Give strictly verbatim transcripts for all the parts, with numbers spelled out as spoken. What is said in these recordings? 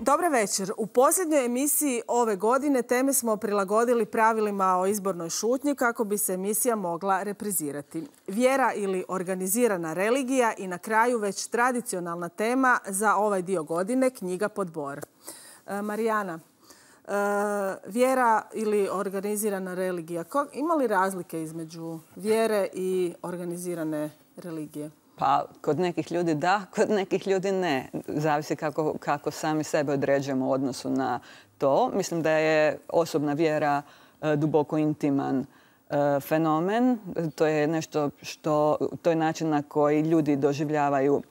Dobar večer. U posljednjoj emisiji ove godine teme smo prilagodili pravilima o izbornoj šutnji kako bi se emisija mogla reprizirati. Vjera ili organizirana religija i na kraju već tradicionalna tema za ovaj dio godine, knjiga pod bor. E, Marijana, e, vjera ili organizirana religija, ima li razlike između vjere i organizirane religije? Pa, kod nekih ljudi da, kod nekih ljudi ne. Zavisi kako, kako sami sebe određujemo u odnosu na to. Mislim da je osobna vjera e, duboko intiman e, fenomen. To je nešto što, to je način na koji ljudi doživljavaju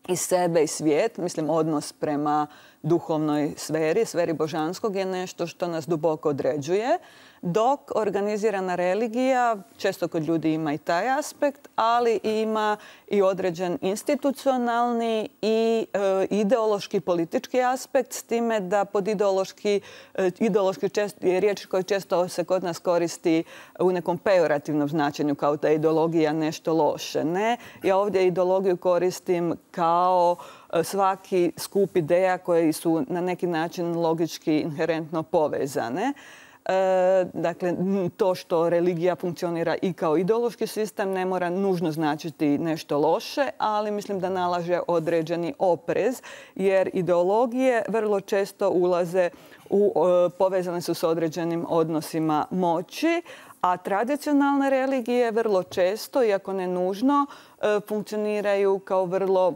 i sebe i svijet. Mislim, odnos prema duhovnoj sferi, sferi božanskog je nešto što nas duboko određuje. Dok organizirana religija, često kod ljudi ima i taj aspekt, ali ima i određen institucionalni i e, ideološki, politički aspekt, s time da pod ideološki, e, ideološki često, je riječ koja često se kod nas koristi u nekom pejorativnom značenju, kao da je ideologija nešto loše. Ne, ja ovdje ideologiju koristim kao svaki skup ideja koji su na neki način logički inherentno povezane. E, dakle, to što religija funkcionira i kao ideološki sistem ne mora nužno značiti nešto loše, ali mislim da nalaže određeni oprez, jer ideologije vrlo često ulaze u, e, povezane su s određenim odnosima moći, a tradicionalne religije vrlo često, iako ne nužno, e, funkcioniraju kao vrlo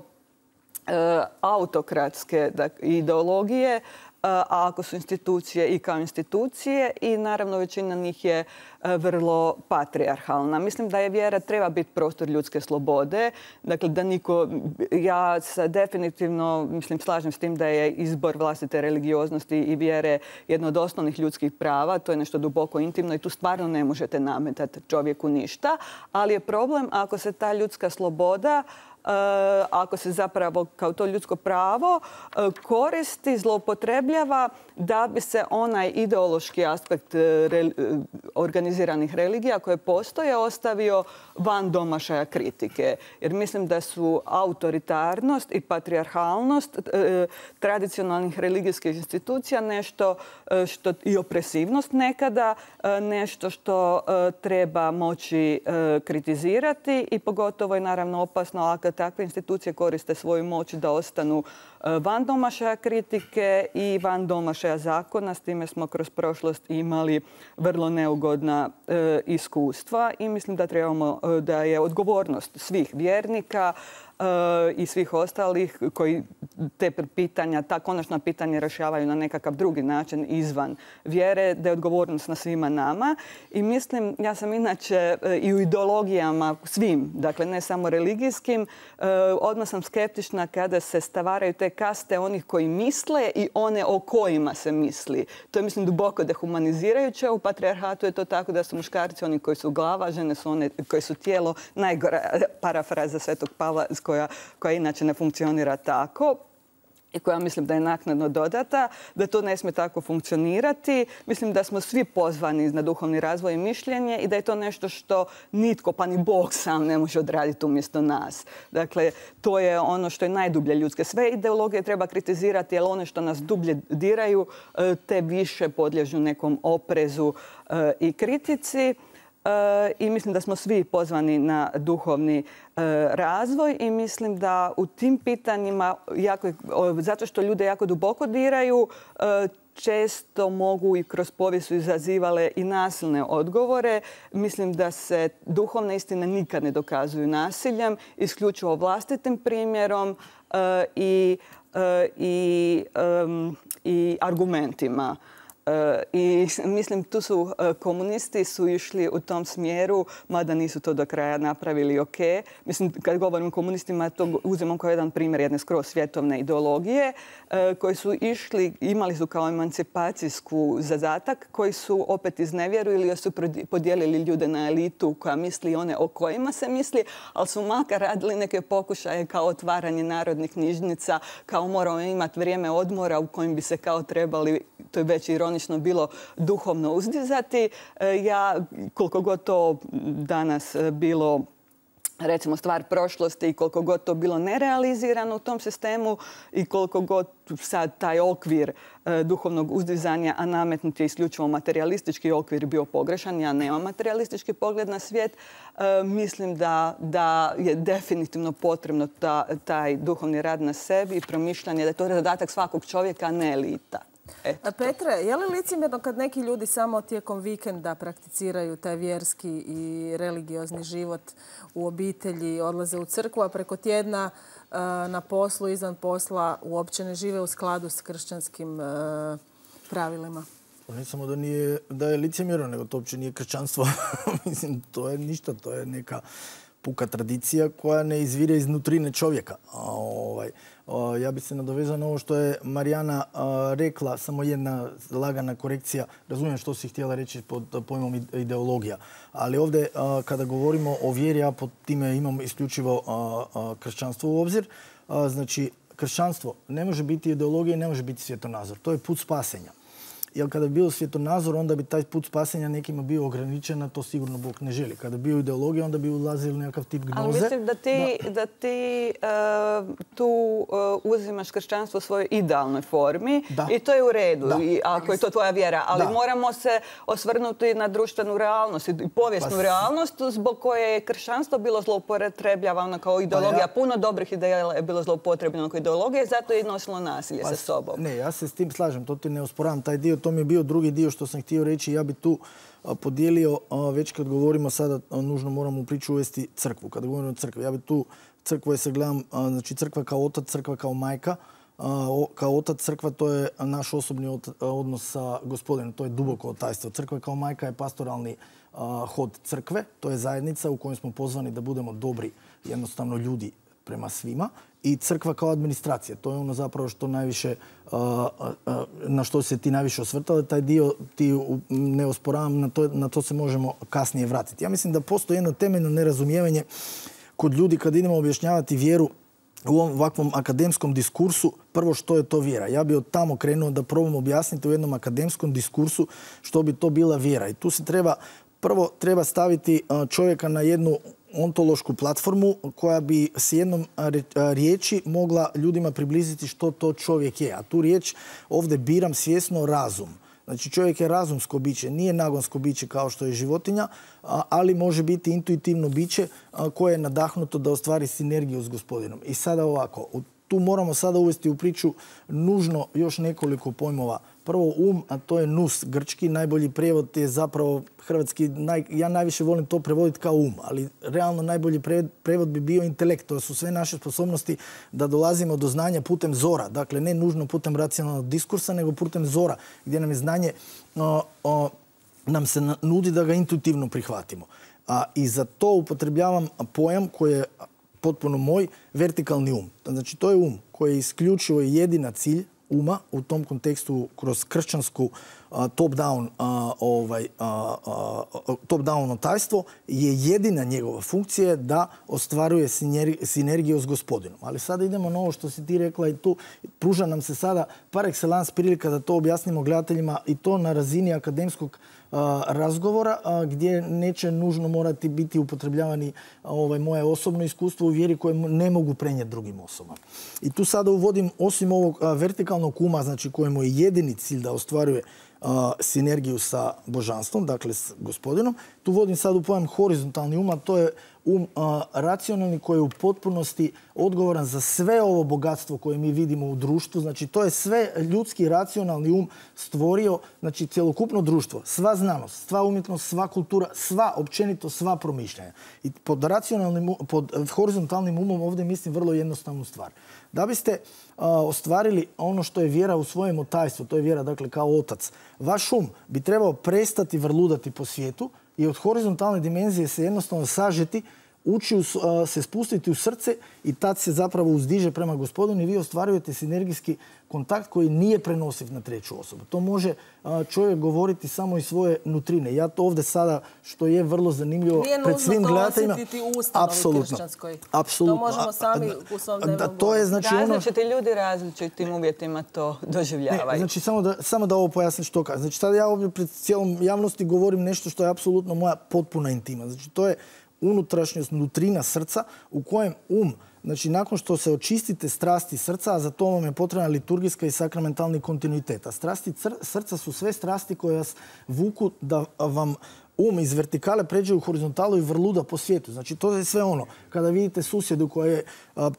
e, autokratske dakle, ideologije, a ako su institucije i kao institucije, i naravno većina njih je vrlo patrijarhalna. Mislim da je vjera treba biti prostor ljudske slobode. Dakle, da niko, ja se definitivno mislim, slažem s tim da je izbor vlastite religioznosti i vjere jedno od osnovnih ljudskih prava. To je nešto duboko intimno i tu stvarno ne možete nametati čovjeku ništa. Ali je problem ako se ta ljudska sloboda Uh, ako se zapravo kao to ljudsko pravo uh, koristi, zloupotrebljava da bi se onaj ideološki aspekt uh, re, uh, organiziranih religija koje postoje ostavio van domašaja kritike. Jer mislim da su autoritarnost i patrijarhalnost uh, tradicionalnih religijskih institucija nešto uh, što i opresivnost nekada uh, nešto što uh, treba moći uh, kritizirati i pogotovo je naravno opasno ako takve institucije koriste svoju moć da ostanu van domašaja kritike i van domašaja zakona. S time smo kroz prošlost imali vrlo neugodna e, iskustva i mislim da trebamo, da je odgovornost svih vjernika e, i svih ostalih koji te pitanja, ta konačna pitanja rješavaju na nekakav drugi način izvan vjere, da je odgovornost na svima nama. I mislim, ja sam inače e, i u ideologijama svim, dakle ne samo religijskim, e, odmah sam skeptična kada se stavaraju te kaste onih koji misle i one o kojima se misli. To je, mislim, duboko dehumanizirajuće. U patrijarhatu je to tako da su muškarci oni koji su glava, žene su one koji su tijelo. Najgora parafraza Svetog Pavla koja, koja inače ne funkcionira tako i koja mislim da je naknadno dodata, da to ne smije tako funkcionirati. Mislim da smo svi pozvani na duhovni razvoj i mišljenje i da je to nešto što nitko, pa ni Bog sam ne može odraditi umjesto nas. Dakle, to je ono što je najdublje ljudske. Sve ideologije treba kritizirati, jer one što nas dublje diraju, te više podliježu nekom oprezu i kritici. I mislim da smo svi pozvani na duhovni razvoj i mislim da u tim pitanjima, jako, zato što ljude jako duboko diraju, često mogu i kroz povijest su izazivale i nasilne odgovore. Mislim da se duhovne istine nikad ne dokazuju nasiljem, isključivo vlastitim primjerom i, i, i argumentima. I mislim, tu su komunisti su išli u tom smjeru, mada nisu to do kraja napravili ok. Mislim, kad govorim o komunistima, to uzimam kao jedan primjer jedne skroz svjetovne ideologije koji su išli, imali su kao emancipacijsku zadatak, koji su opet iznevjerili ili su podijelili ljude na elitu koja misli one o kojima se misli, ali su makar radili neke pokušaje kao otvaranje narodnih knjižnica, kao moramo imati vrijeme odmora u kojim bi se kao trebali, to je već ironično bilo, duhovno uzdizati. Ja, koliko god to danas bilo recimo stvar prošlosti i koliko god to bilo nerealizirano u tom sistemu i koliko god sad taj okvir e, duhovnog uzdizanja, a nametnut je isključivo materialistički okvir bio pogrešan, ja nemam materialistički pogled na svijet, e, mislim da, da je definitivno potrebno ta, taj duhovni rad na sebi i promišljanje da je to zadatak svakog čovjeka, a ne elita. Eto. Petre, je li licemjerno kad neki ljudi samo tijekom vikenda prakticiraju taj vjerski i religiozni život u obitelji, odlaze u crkvu, a preko tjedna na poslu, izvan posla uopće ne žive u skladu s kršćanskim pravilima? Ne samo da, nije, da je licemjerno, nego to uopće nije kršćanstvo. Mislim, to je ništa, to je neka puka tradicija koja ne izvire iz nutrine čovjeka. A, ovaj, a, ja bih se nadovezao na ovo što je Marijana a, rekla, samo jedna lagana korekcija. Razumijem što si htjela reći pod pojmom ideologija. Ali ovdje a, kada govorimo o vjeri, ja pod time imam isključivo a, a, kršćanstvo u obzir. A, znači, kršćanstvo ne može biti ideologija i ne može biti svjetonazor. To je put spasenja. Jer kada bi bio svjetonazor, onda bi taj put spasenja nekima bio ograničen, a to sigurno Bog ne želi. Kada bi bio ideologija, onda bi ulazili u nekakav tip gnoze. Ali mislim da ti, da. Da ti uh, tu uh, uzimaš kršćanstvo u svojoj idealnoj formi da. I to je u redu, I, ako je to tvoja vjera. Ali da. Moramo se osvrnuti na društvenu realnost i povijesnu pa, realnost zbog koje je kršćanstvo bilo zloupotrebljavano kao ideologija. Pa ja, Puno dobrih ideja je bilo zloupotrebljeno kao ideologija i zato je nosilo nasilje pa, sa sobom. Ne, ja se s tim slažem, to ti ne osporavam. Taj dio, to mi je bio drugi dio što sam htio reći. Ja bi tu podijelio, već kad govorimo sada, nužno moramo u priču uvesti crkvu. Kada govorimo o crkvi, ja bi tu crkvu je se gledam, znači crkva kao otac, crkva kao majka. Kao otac crkva to je naš osobni odnos sa Gospodinom, to je duboko otajstvo. Crkva kao majka je pastoralni hod crkve, to je zajednica u kojoj smo pozvani da budemo dobri, jednostavno ljudi prema svima. I crkva kao administracija. To je ono zapravo što najviše, na što se ti najviše osvrtali. Taj dio ti ne osporavam, na to, na to se možemo kasnije vratiti. Ja mislim da postoji jedno temeljno nerazumijevanje kod ljudi kad idemo objašnjavati vjeru u ovakvom akademskom diskursu. Prvo, što je to vjera? Ja bi od tamo krenuo da probam objasniti u jednom akademskom diskursu što bi to bila vjera. I tu se treba, prvo treba staviti čovjeka na jednu ontološku platformu koja bi s jednom riječi mogla ljudima približiti što to čovjek je. A tu riječ ovdje biram svjesno razum. Znači čovjek je razumsko biće, nije nagonsko biće kao što je životinja, ali može biti intuitivno biće koje je nadahnuto da ostvari sinergiju s Gospodinom. I sada ovako, tu moramo sada uvesti u priču nužno još nekoliko pojmova. Prvo um, a to je nous, grčki. Najbolji prijevod je zapravo hrvatski. Naj, ja najviše volim to prevoditi kao um, ali realno najbolji prevod bi bio intelekt. To su sve naše sposobnosti da dolazimo do znanja putem zora. Dakle, ne nužno putem racionalnog diskursa, nego putem zora, gdje nam je znanje o, o, nam se nudi da ga intuitivno prihvatimo. A, I za to upotrebljavam pojam koji je potpuno moj, vertikalni um. Znači, to je um koji je isključivo jedina cilj uma u tom kontekstu kroz kršćansku top-down ovaj, top-down otajstvo je jedina njegova funkcija da ostvaruje sinergiju s Gospodinom. Ali sada idemo na ovo što si ti rekla i tu pruža nam se sada par excellence prilika da to objasnimo gledateljima i to na razini akademskog razgovora gdje neće nužno morati biti upotrebljavani ovaj, moje osobno iskustvo u vjeri koje ne mogu prenijeti drugim osobama. I tu sada uvodim osim ovog vertikalnog uma, znači kojemu je jedini cilj da ostvaruje sinergiju sa božanstvom, dakle s Gospodinom. Tu vodim sad u pojam horizontalni um, a to je um a, racionalni koji je u potpunosti odgovoran za sve ovo bogatstvo koje mi vidimo u društvu. Znači to je sve ljudski racionalni um stvorio, znači cjelokupno društvo, sva znanost, sva umjetnost, sva kultura, sva općenito, sva promišljanja. I pod racionalnim, pod horizontalnim umom ovdje mislim vrlo jednostavnu stvar. Da biste a, ostvarili ono što je vjera u svojem otajstvu, to je vjera dakle kao otac, vaš um bi trebao prestati vrludati po svijetu i od horizontalne dimenzije se jednostavno sažeti, ući uh, se spustiti u srce i tad se zapravo uzdiže prema Gospodinu i vi ostvarujete sinergijski kontakt koji nije prenosiv na treću osobu. To može uh, čovjek govoriti samo iz svoje nutrine. Ja to ovdje sada, što je vrlo zanimljivo pred svim gledateljima... Nije nužno to osjetiti u ustanovi kršćanskoj. Apsolutno. To možemo sami u svom dnevnom to je, znači, ono... Različiti ljudi različitim uvjetima to doživljavaju. Ne, znači, samo da, samo da ovo pojasnim što kažem. Znači, tada ja ovdje pred cijelom javnosti govorim nešto što je apsolutno moja potpuna intima. Znači, to je unutrašnjost, nutrina srca u kojem um, znači nakon što se očistite strasti srca, a za to vam je potrebna liturgijska i sakramentalni kontinuitet. A strasti srca su sve strasti koje vas vuku da vam um iz vertikale pređe u horizontalu i vrluda po svijetu. Znači to je sve ono. Kada vidite susjedu koja je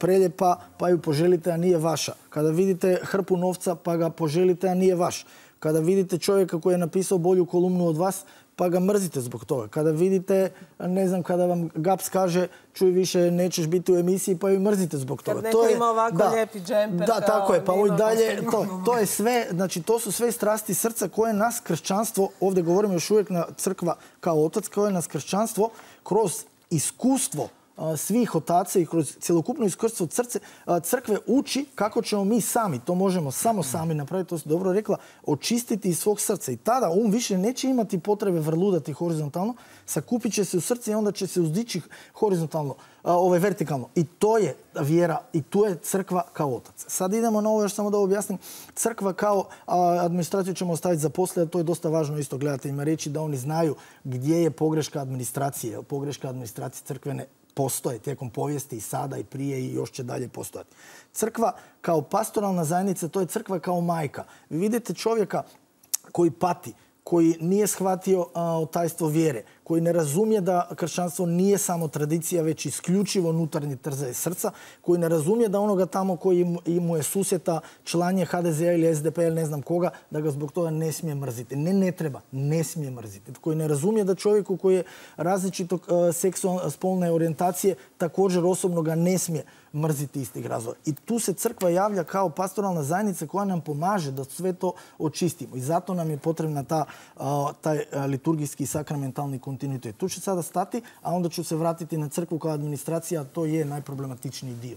preljepa pa ju poželite, a nije vaša. Kada vidite hrpu novca pa ga poželite, a nije vaš. Kada vidite čovjeka koji je napisao bolju kolumnu od vas, pa ga mrzite zbog toga. Kada vidite, ne znam, kada vam Gaps kaže čuj više nećeš biti u emisiji, pa ju mrzite zbog toga. Kad neko ima ovako lijepi džemper. Da, tako je. Pa i dalje, to, to je sve, znači to su sve strasti srca koje nas kršćanstvo, ovdje govorimo još uvijek na crkva kao otac, koje nas kršćanstvo kroz iskustvo svih otaca i kroz cjelokupno iskustvo crce, crkve uči kako ćemo mi sami, to možemo samo sami napraviti, to si dobro rekla, očistiti iz svog srca. I tada um više neće imati potrebe vrludati horizontalno, sakupit će se u srce i onda će se uzdići horizontalno, ovaj, vertikalno. I to je vjera i tu je crkva kao otac. Sad idemo na ovo, još samo da objasnim. Crkva kao administraciju ćemo ostaviti za poslije, a to je dosta važno isto gledateljima reći da oni znaju gdje je pogreška administracije. Pogreška administracije crkvene postoje tijekom povijesti i sada i prije i još će dalje postojati. Crkva kao pastoralna zajednica, to je crkva kao majka. Vi vidite čovjeka koji pati, koji nije shvatio a, tajstvo vjere, koji ne razumije da kršćanstvo nije samo tradicija, već isključivo unutarnji trzaj srca, koji ne razumije da onoga tamo koji mu je susjeta član ha de ze a ili es de pe ili ne znam koga, da ga zbog toga ne smije mrziti. Ne, ne treba, ne smije mrziti. Koji ne razumije da čovjeku koji je različitog uh, seksualne spolne orijentacije također osobno ga ne smije mrziti istih razloga. I tu se crkva javlja kao pastoralna zajednica koja nam pomaže da sve to očistimo. I zato nam je potrebna ta, uh, taj uh, liturgijski i sakramentalni kontinuitet. Tu ću sada stati, a onda ću se vratiti na crkvu kao administracija, to je najproblematičniji dio.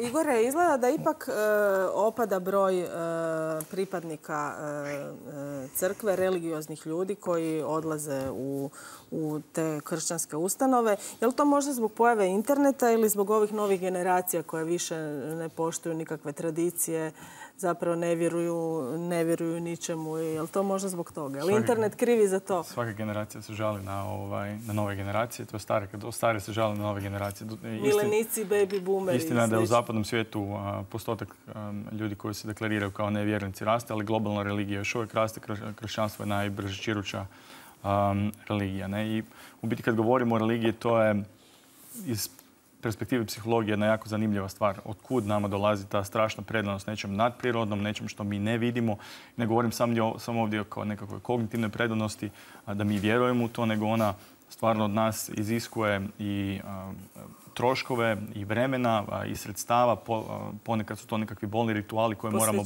Igore, izgleda da ipak e, opada broj e, pripadnika e, crkve, religioznih ljudi koji odlaze u, u te kršćanske ustanove. Je li to možda zbog pojave interneta ili zbog ovih novih generacija koje više ne poštuju nikakve tradicije, zapravo ne vjeruju, ne vjeruju ničemu? Je li to možda zbog toga? Je li internet krivi za to? Svaka generacija se žali na, ovaj, na nove generacije. To je stare, kad stare se žali na nove generacije. Milenici, baby boomeri. Istina je da je u zapadnom svijetu a, postotak a, ljudi koji se deklariraju kao nevjernici raste, ali globalna religija još uvijek raste. Kršćanstvo je najbrže čiruća um, religija. Ne? I u biti kad govorimo o religiji, to je iz perspektive psihologije jedna jako zanimljiva stvar. Otkud nama dolazi ta strašna predanost nečem nadprirodnom, nečem što mi ne vidimo. Ne govorim samo, samo ovdje kao nekakvoj kognitivnoj predanosti, da mi vjerujemo u to, nego ona stvarno od nas iziskuje i a, troškove i vremena a, i sredstava. Po, a, ponekad su to nekakvi bolni rituali koje moramo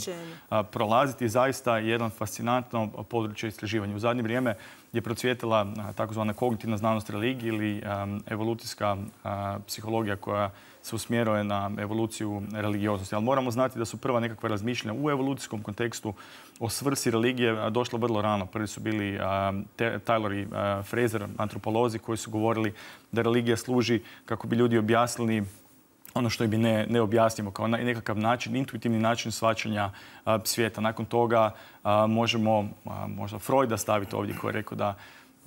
a, prolaziti. Zaista jedan fascinantno područje istraživanja. U zadnje vrijeme je procvjetala takozvana kognitivna znanost religije ili um, evolucijska uh, psihologija koja se usmjeruje na evoluciju religioznosti. Ali moramo znati da su prva nekakva razmišljanja u evolucijskom kontekstu o svrsi religije došla vrlo rano. Prvi su bili uh, Taylor i uh, Fraser, antropolozi, koji su govorili da religija služi kako bi ljudi objasnili ono što bi ne, ne objasnimo kao nekakav način, intuitivni način shvaćanja a, svijeta. Nakon toga a, možemo a, možda Freuda staviti ovdje koji je rekao da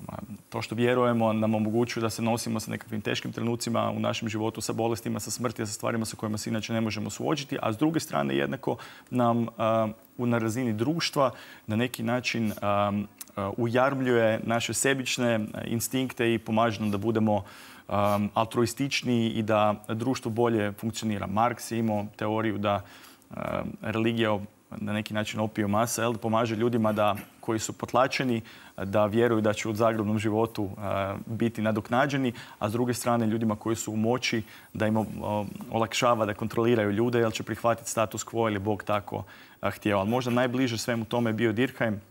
a, to što vjerujemo nam omogućuje da se nosimo sa nekakvim teškim trenucima u našem životu, sa bolestima, sa smrti, sa stvarima sa kojima se inače ne možemo suočiti, a s druge strane jednako nam a, na razini društva na neki način a, a, ujarmljuje naše sebične instinkte i pomaže nam da budemo Um, altruističniji i da društvo bolje funkcionira. Marks je imao teoriju da um, religija na neki način opio masa, jel, pomaže ljudima da, koji su potlačeni, da vjeruju da će u zagrobnom životu uh, biti nadoknađeni, a s druge strane ljudima koji su u moći da im uh, olakšava da kontroliraju ljude, jer će prihvatiti status quo ili Bog tako uh, htio. Ali možda najbliže svemu tome je bio Durkheim,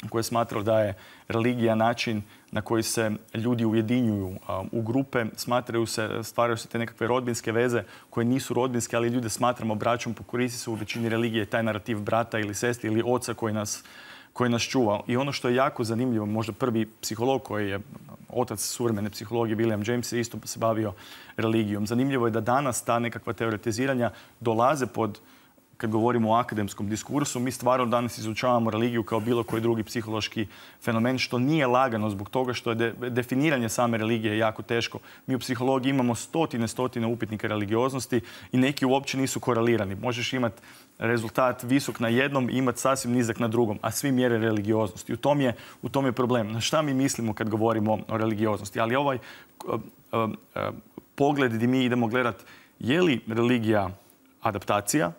koji je smatrao da je religija način na koji se ljudi ujedinjuju um, u grupe, smatraju se, stvaraju se te nekakve rodbinske veze koje nisu rodbinske, ali ljude smatramo braćom, pokoristi se u većini religije taj narativ brata ili sestri ili oca koji nas, koji nas čuva. I ono što je jako zanimljivo, možda prvi psiholog koji je otac suvremene psihologije, William James, je isto se bavio religijom. Zanimljivo je da danas ta nekakva teoretiziranja dolaze pod kad govorimo o akademskom diskursu, mi stvarno danas izučavamo religiju kao bilo koji drugi psihološki fenomen, što nije lagano zbog toga što je de, definiranje same religije jako teško. Mi u psihologiji imamo stotine, stotine upitnika religioznosti i neki uopće nisu korelirani. Možeš imati rezultat visok na jednom i imati sasvim nizak na drugom, a svi mjere religioznosti. U tom je, u tom je problem. Na šta mi mislimo kad govorimo o religioznosti? Ali ovaj uh, uh, uh, pogled gdje mi idemo gledati je li religija adaptacija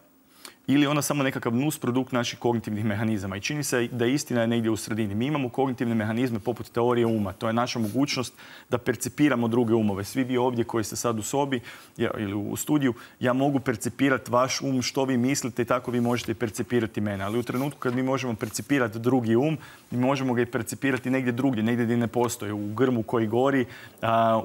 ili ona samo nekakav nusprodukt naših kognitivnih mehanizama. I čini se da istina je negdje u sredini. Mi imamo kognitivne mehanizme poput teorije uma. To je naša mogućnost da percipiramo druge umove. Svi vi ovdje koji ste sad u sobi ili u studiju, ja mogu percipirati vaš um, što vi mislite i tako vi možete percipirati mene. Ali u trenutku kad mi možemo percipirati drugi um, mi možemo ga i percipirati negdje drugdje, negdje gdje ne postoji. U grmu koji gori,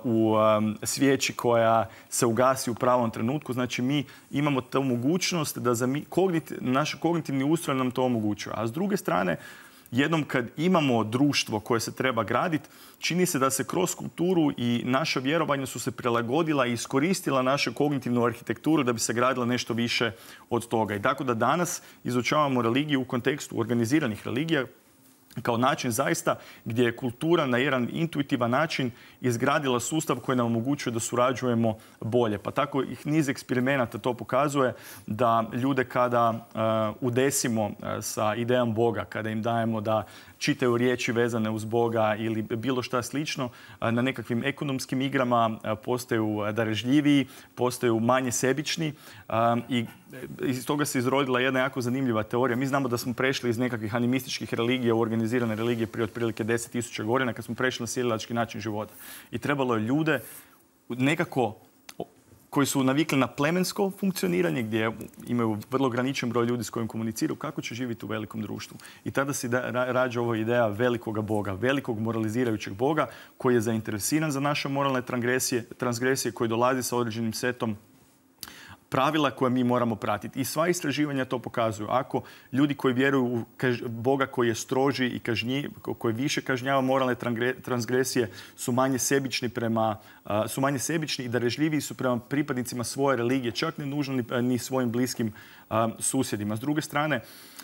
u svijeći koja se ugasi u pravom trenutku. Znači mi imamo tu mogućnost da za mi Kognit, naš kognitivni ustroj nam to omogućuje. A s druge strane, jednom kad imamo društvo koje se treba graditi, čini se da se kroz kulturu i naša vjerovanja su se prilagodila i iskoristila našu kognitivnu arhitekturu da bi se gradila nešto više od toga. I tako da danas izučavamo religiju u kontekstu organiziranih religija kao način zaista gdje je kultura na jedan intuitivan način izgradila sustav koji nam omogućuje da surađujemo bolje. Pa tako i niz eksperimenata to pokazuje da ljude kada uh, udesimo uh, sa idejom Boga, kada im dajemo da čitaju riječi vezane uz Boga ili bilo šta slično, uh, na nekakvim ekonomskim igrama uh, postaju darežljiviji, postaju manje sebični uh, i iz toga se izrodila jedna jako zanimljiva teorija. Mi znamo da smo prešli iz nekakvih animističkih religija u organizirane religije prije otprilike deset tisuća godina kad smo prešli na sjedilački način života. I trebalo je ljude nekako koji su navikli na plemensko funkcioniranje, gdje imaju vrlo ograničen broj ljudi s kojim komuniciraju, kako će živjeti u velikom društvu. I tada se da, rađa ova ideja velikoga Boga, velikog moralizirajućeg Boga koji je zainteresiran za naše moralne transgresije, transgresije koji dolazi sa određenim setom pravila koje mi moramo pratiti. I sva istraživanja to pokazuju. Ako ljudi koji vjeruju u Boga koji je stroži i kažnji, koji više kažnjava moralne transgresije, su manje sebični prema, su manje sebični i darežljiviji su prema pripadnicima svoje religije, čak ne nužno ni, ni svojim bliskim a, susjedima. S druge strane,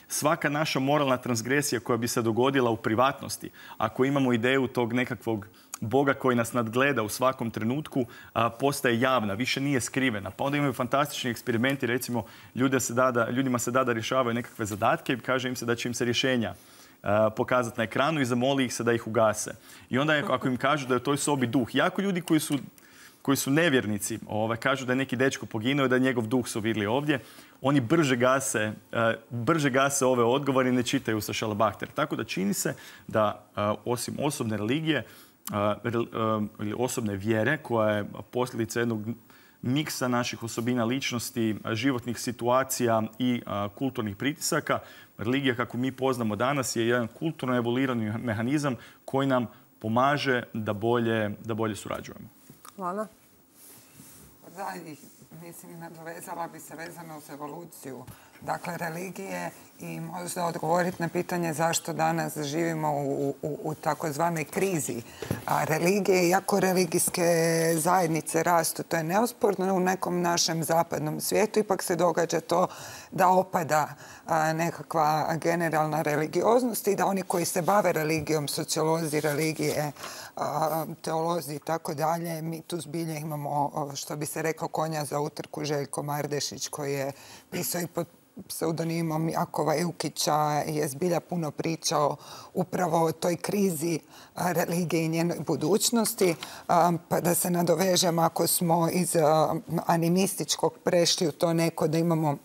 svaka naša moralna transgresija koja bi se dogodila u privatnosti, ako imamo ideju tog nekakvog Boga koji nas nadgleda u svakom trenutku, a, postaje javna, više nije skrivena. Pa onda imaju fantastični eksperimenti, recimo ljude se dada, ljudima se da da rješavaju nekakve zadatke i kaže im se da će im se rješenja a, pokazati na ekranu i zamoli ih se da ih ugase. I onda je, ako im kažu da je u toj sobi duh, jako ljudi koji su, koji su nevjernici, ovaj, kažu da je neki dečko poginuo i da je njegov duh su vidjeli ovdje, oni brže gase, uh, brže gase ove odgovore i ne čitaju sa šalabahter. Tako da čini se da uh, osim osobne religije, ili osobne vjere koja je posljedica jednog miksa naših osobina ličnosti, životnih situacija i kulturnih pritisaka. Religija kako mi poznamo danas je jedan kulturno evoluirani mehanizam koji nam pomaže da bolje, da bolje surađujemo. Hvala. Da, mislim, nadovezala bi se vezano uz evoluciju. Dakle, religije i možda odgovoriti na pitanje zašto danas živimo u, u, u takozvanoj krizi. A religije, iako religijske zajednice rastu, to je neosporno u nekom našem zapadnom svijetu, ipak se događa to da opada a, nekakva generalna religioznost i da oni koji se bave religijom, sociolozi religije, a, teolozi i tako dalje, mi tu zbilje imamo, što bi se rekao, konja za utrku, Željko Mardešić koji je pisao i pod pseudonimom Jakova Jukića je zbilja puno pričao upravo o toj krizi religije i njenoj budućnosti. Pa da se nadovežem, ako smo iz animističkog prešli u to neko da imamo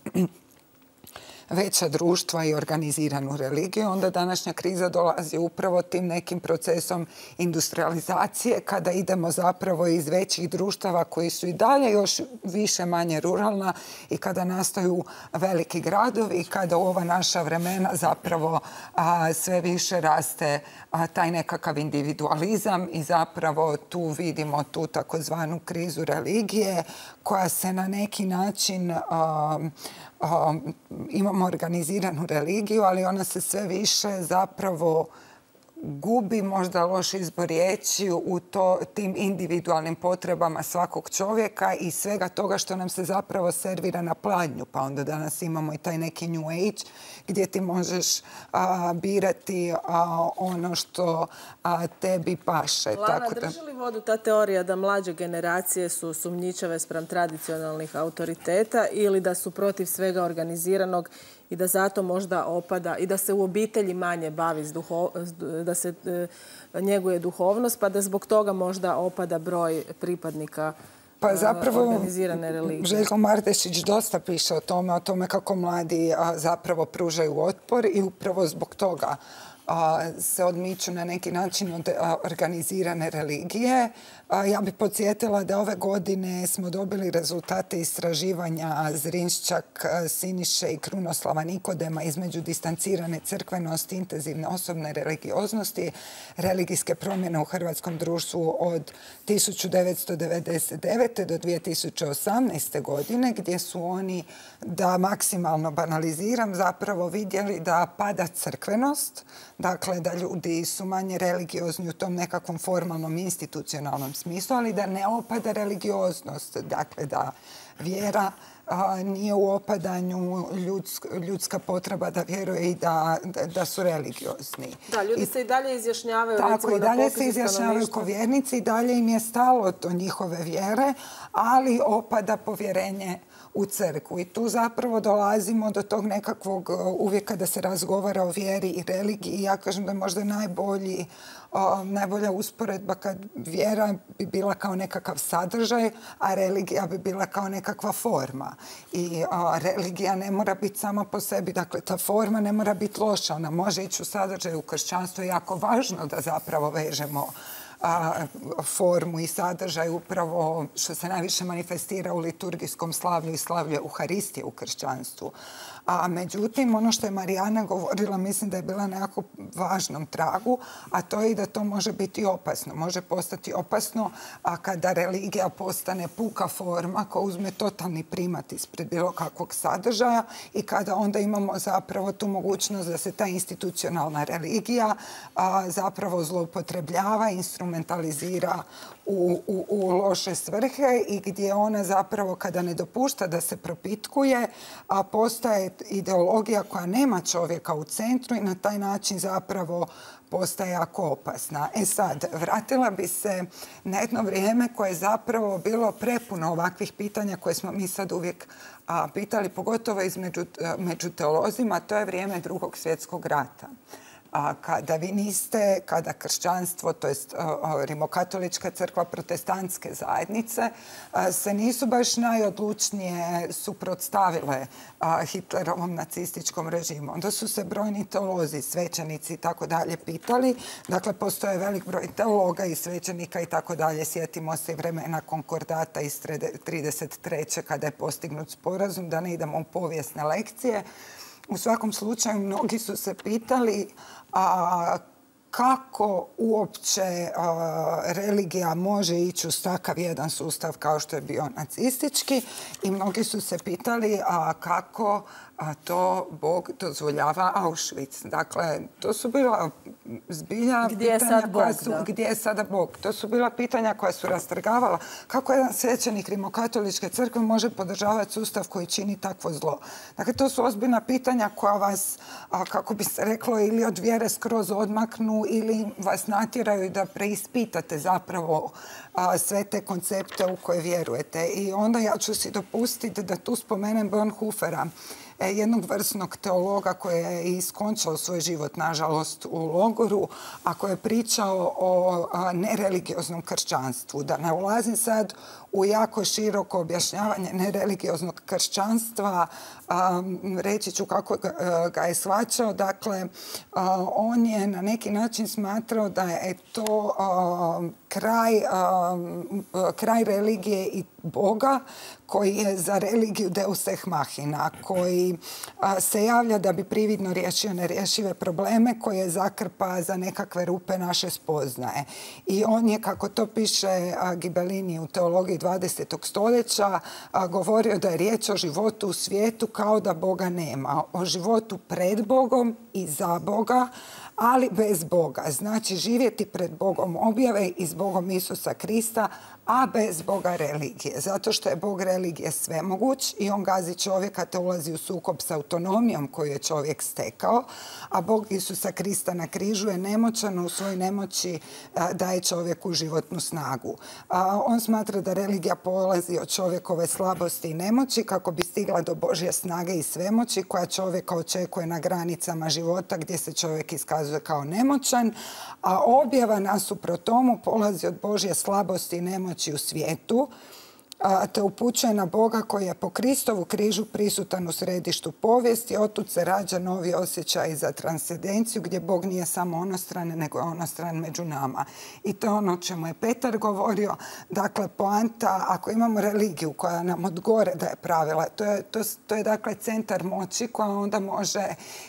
veća društva i organiziranu religiju, onda današnja kriza dolazi upravo tim nekim procesom industrializacije, kada idemo zapravo iz većih društava koji su i dalje još više manje ruralna i kada nastaju veliki gradovi, kada u ova naša vremena zapravo a, sve više raste a, taj nekakav individualizam i zapravo tu vidimo tu takozvanu krizu religije koja se na neki način a, Um, imamo organiziranu religiju, ali ona se sve više zapravo gubi možda loš izbor riječi u to, tim individualnim potrebama svakog čovjeka i svega toga što nam se zapravo servira na pladnju. Pa onda danas imamo i taj neki new age gdje ti možeš a, birati a, ono što a, tebi paše. Lana, Tako da... drži li vodu ta teorija da mlađe generacije su sumnjičave spram tradicionalnih autoriteta ili da su protiv svega organiziranog i da zato možda opada i da se u obitelji manje bavi, s duho, da se e, njeguje duhovnost, pa da zbog toga možda opada broj pripadnika pa zapravo, organizirane religije? Željko Mardešić dosta piše o tome, o tome kako mladi a, zapravo pružaju otpor i upravo zbog toga a, se odmiču na neki način od a, organizirane religije. A, ja bih podsjetila da ove godine smo dobili rezultate istraživanja Zrinščak, Siniše i Krunoslava Nikodema između distancirane crkvenosti, intenzivne osobne religioznosti, religijske promjene u hrvatskom društvu od tisuću devetsto devedeset devete. do dvije tisuće osamnaeste. godine, gdje su oni, da maksimalno banaliziram, zapravo vidjeli da pada crkvenost, dakle da ljudi su manje religiozni u tom nekakvom formalnom institucionalnom smislu, ali da ne opada religioznost, dakle da vjera a, nije u opadanju, ljudsk, ljudska potreba da vjeruje i da, da, da su religiozni. Da, ljudi I, se i dalje izjašnjavaju. Tako, recimo, i dalje se izjašnjavaju ko vjernici i dalje im je stalo do njihove vjere, ali opada povjerenje u crkvu. I tu zapravo dolazimo do tog nekakvog uvijek kada se razgovara o vjeri i religiji. Ja kažem da je možda najbolji, o, najbolja usporedba kad vjera bi bila kao nekakav sadržaj, a religija bi bila kao nekakva forma. I o, religija ne mora biti sama po sebi, dakle ta forma ne mora biti loša, ona može ići u sadržaj. U kršćanstvu je jako važno da zapravo vežemo A, formu i sadržaj upravo što se najviše manifestira u liturgijskom slavlju i slavlju Euharistije u kršćanstvu. A međutim, ono što je Marijana govorila, mislim da je bila na jako važnom tragu, a to je i da to može biti opasno. Može postati opasno a kada religija postane puka forma koja uzme totalni primat ispred bilo kakvog sadržaja i kada onda imamo zapravo tu mogućnost da se ta institucionalna religija a, zapravo zloupotrebljava, instrumentalizira u, u, u loše svrhe i gdje ona zapravo kada ne dopušta da se propitkuje, a postaje ideologija koja nema čovjeka u centru i na taj način zapravo postaje jako opasna. E sad, vratila bi se na jedno vrijeme koje je zapravo bilo prepuno ovakvih pitanja koje smo mi sad uvijek a, pitali, pogotovo između, među teolozima, to je vrijeme Drugog svjetskog rata. A kada vi niste, kada kršćanstvo, to jest rimokatolička crkva, protestantske zajednice, se nisu baš najodlučnije suprotstavile Hitlerovom nacističkom režimu. Onda su se brojni teolozi, svećenici i tako dalje pitali. Dakle, postoje velik broj teologa i svećenika i tako dalje. Sjetimo se vremena konkordata iz trideset treće kada je postignut sporazum, da ne idemo u povijesne lekcije. U svakom slučaju, mnogi su se pitali a, kako uopće a, religija može ići uz takav jedan sustav kao što je bio nacistički i mnogi su se pitali a, kako a, to Bog dozvoljava Auschwitz. Dakle, to su bila zbilja gdje je pitanja sad koja Bog, su, da. gdje je sada Bog. To su bila pitanja koja su rastrgavala kako jedan svećenik rimokatoličke crkve može podržavati sustav koji čini takvo zlo. Dakle, to su ozbiljna pitanja koja vas, a, kako bi se reklo, ili od vjere skroz odmaknu ili vas natjeraju da preispitate zapravo a, sve te koncepte u koje vjerujete. I onda ja ću si dopustiti da tu spomenem Bonhoeffera, jednog vrsnog teologa koji je iskončao svoj život, nažalost, u logoru, a koji je pričao o nereligioznom kršćanstvu. Da ne ulazim sad u jako široko objašnjavanje nereligioznog kršćanstva, um, reći ću kako ga, ga je shvaćao. Dakle, uh, on je na neki način smatrao da je to uh, kraj, uh, kraj religije i Boga koji je za religiju deus ex machina, koji a, se javlja da bi prividno riješio nerješive probleme, koje zakrpa za nekakve rupe naše spoznaje. I on je, kako to piše a, Ghibellini u teologiji dvadesetog stoljeća, a, govorio da je riječ o životu u svijetu kao da Boga nema. O životu pred Bogom i za Boga, ali bez Boga. Znači živjeti pred Bogom objave i s Bogom Isusa Krista, a bez Boga religije. Zato što je Bog religije svemoguć i on gazi čovjeka te ulazi u sukob s autonomijom koju je čovjek stekao, a Bog Isusa Krista na križu je nemoćan, u svojoj nemoći daje čovjeku životnu snagu. On smatra da religija polazi od čovjekove slabosti i nemoći kako bi stigla do Božje snage i svemoći koja čovjeka očekuje na granicama života gdje se čovjek iskazuje kao nemoćan, a objava nasuprot tomu polazi od Božje slabosti i nemoći u svijetu, te upućuje na Boga koji je po Kristovu križu prisutan u središtu povijesti. Otud se rađa novi osjećaj za transcendenciju gdje Bog nije samo onostran, nego je onostran među nama. I to je ono o čemu je Petar govorio. Dakle, poanta, ako imamo religiju koja nam od gore daje pravila, to je, to, to je dakle centar moći koja onda može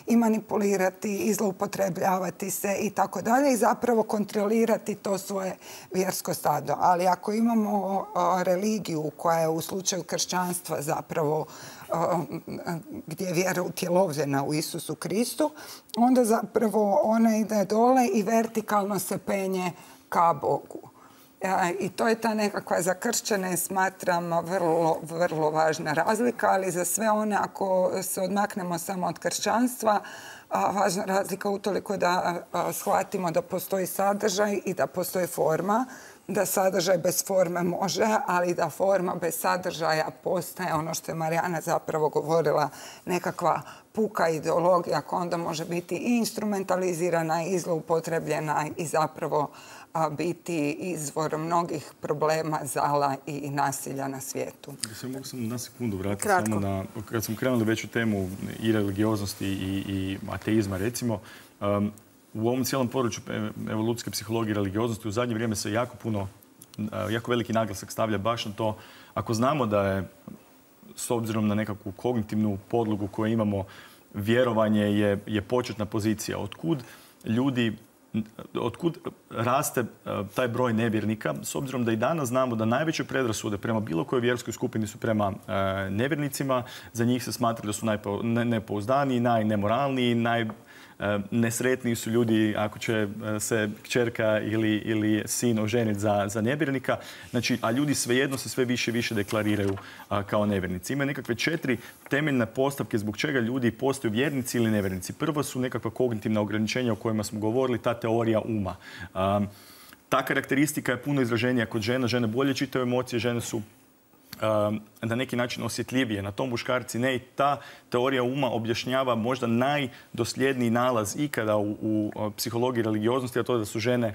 i manipulirati i zloupotrebljavati se i tako dalje i zapravo kontrolirati to svoje vjersko stado. Ali ako imamo o, religiju koja je u slučaju kršćanstva zapravo gdje je vjera utjelovljena u Isusu Kristu, onda zapravo ona ide dole i vertikalno se penje ka Bogu. I to je ta nekakva za kršćane, smatram, vrlo, vrlo važna razlika, ali za sve one, ako se odmaknemo samo od kršćanstva, važna razlika utoliko da shvatimo da postoji sadržaj i da postoji forma, da sadržaj bez forme može, ali da forma bez sadržaja postaje ono što je Marijana zapravo govorila, nekakva puka ideologija koja onda može biti i instrumentalizirana i zloupotrebljena i zapravo biti izvor mnogih problema, zala i nasilja na svijetu. Ja mogu sam na sekundu vratiti Kratko. samo na, kad smo krenuli već u temu i religioznosti i, i ateizma, recimo, um, u ovom cijelom području evolucijske psihologije i religioznosti u zadnje vrijeme se jako puno, jako veliki naglasak stavlja baš na to, ako znamo da je, s obzirom na nekakvu kognitivnu podlogu koju imamo, vjerovanje je, je početna pozicija. Otkud ljudi, otkud raste taj broj nevjernika, s obzirom da i danas znamo da najveće predrasude prema bilo kojoj vjerskoj skupini su prema nevjernicima, za njih se smatra da su najnepouzdaniji, najnemoralniji, naj nesretniji su ljudi ako će se kćerka ili, ili sin oženiti za, za nevjernika. Znači, a ljudi svejedno se sve više i više deklariraju a, kao nevjernici. Ima nekakve četiri temeljne postavke zbog čega ljudi postaju vjernici ili nevjernici. Prvo su nekakva kognitivna ograničenja o kojima smo govorili, ta teorija uma. A, ta karakteristika je puno izraženija kod žena. Žene bolje čitaju emocije, žene su na neki način osjetljivije. Na tom muškarci ne. I ta teorija uma objašnjava možda najdosljedniji nalaz ikada u, u psihologiji religioznosti, a to je da su žene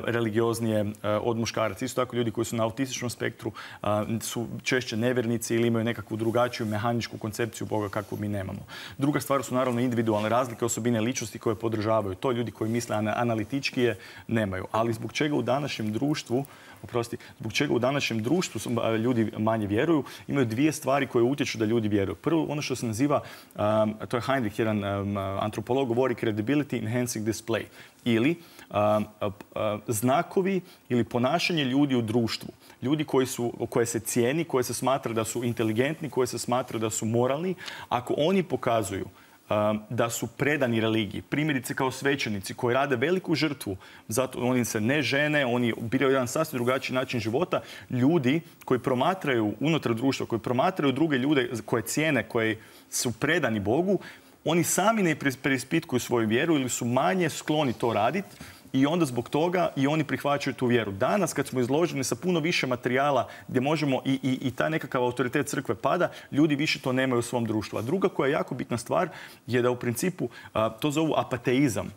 religioznije od muškaraca. Isto tako ljudi koji su na autističnom spektru su češće nevjernici ili imaju nekakvu drugačiju mehaničku koncepciju Boga kakvu mi nemamo. Druga stvar su naravno individualne razlike, osobine ličnosti koje podržavaju. To ljudi koji misle analitički je nemaju. Ali zbog čega u današnjem društvu Oprosti, zbog čega u današnjem društvu ljudi manje vjeruju, imaju dvije stvari koje utječu da ljudi vjeruju. Prvo, ono što se naziva, um, to je Heinrich, jedan um, antropolog, govori credibility enhancing display. Ili um, uh, znakovi ili ponašanje ljudi u društvu. Ljudi koji su, koje se cijeni, koje se smatra da su inteligentni, koje se smatra da su moralni, ako oni pokazuju da su predani religiji. Primjerice kao svećenici koji rade veliku žrtvu, zato oni se ne žene, oni biraju jedan sasvim drugačiji način života. Ljudi koji promatraju unutar društva, koji promatraju druge ljude koje cijene, koji su predani Bogu, oni sami ne preispitkuju svoju vjeru ili su manje skloni to raditi. I onda zbog toga i oni prihvaćaju tu vjeru. Danas kad smo izloženi sa puno više materijala gdje možemo i, i, i taj nekakav autoritet crkve pada, ljudi više to nemaju u svom društvu. A druga koja je jako bitna stvar je da u principu a, to zovu apateizam.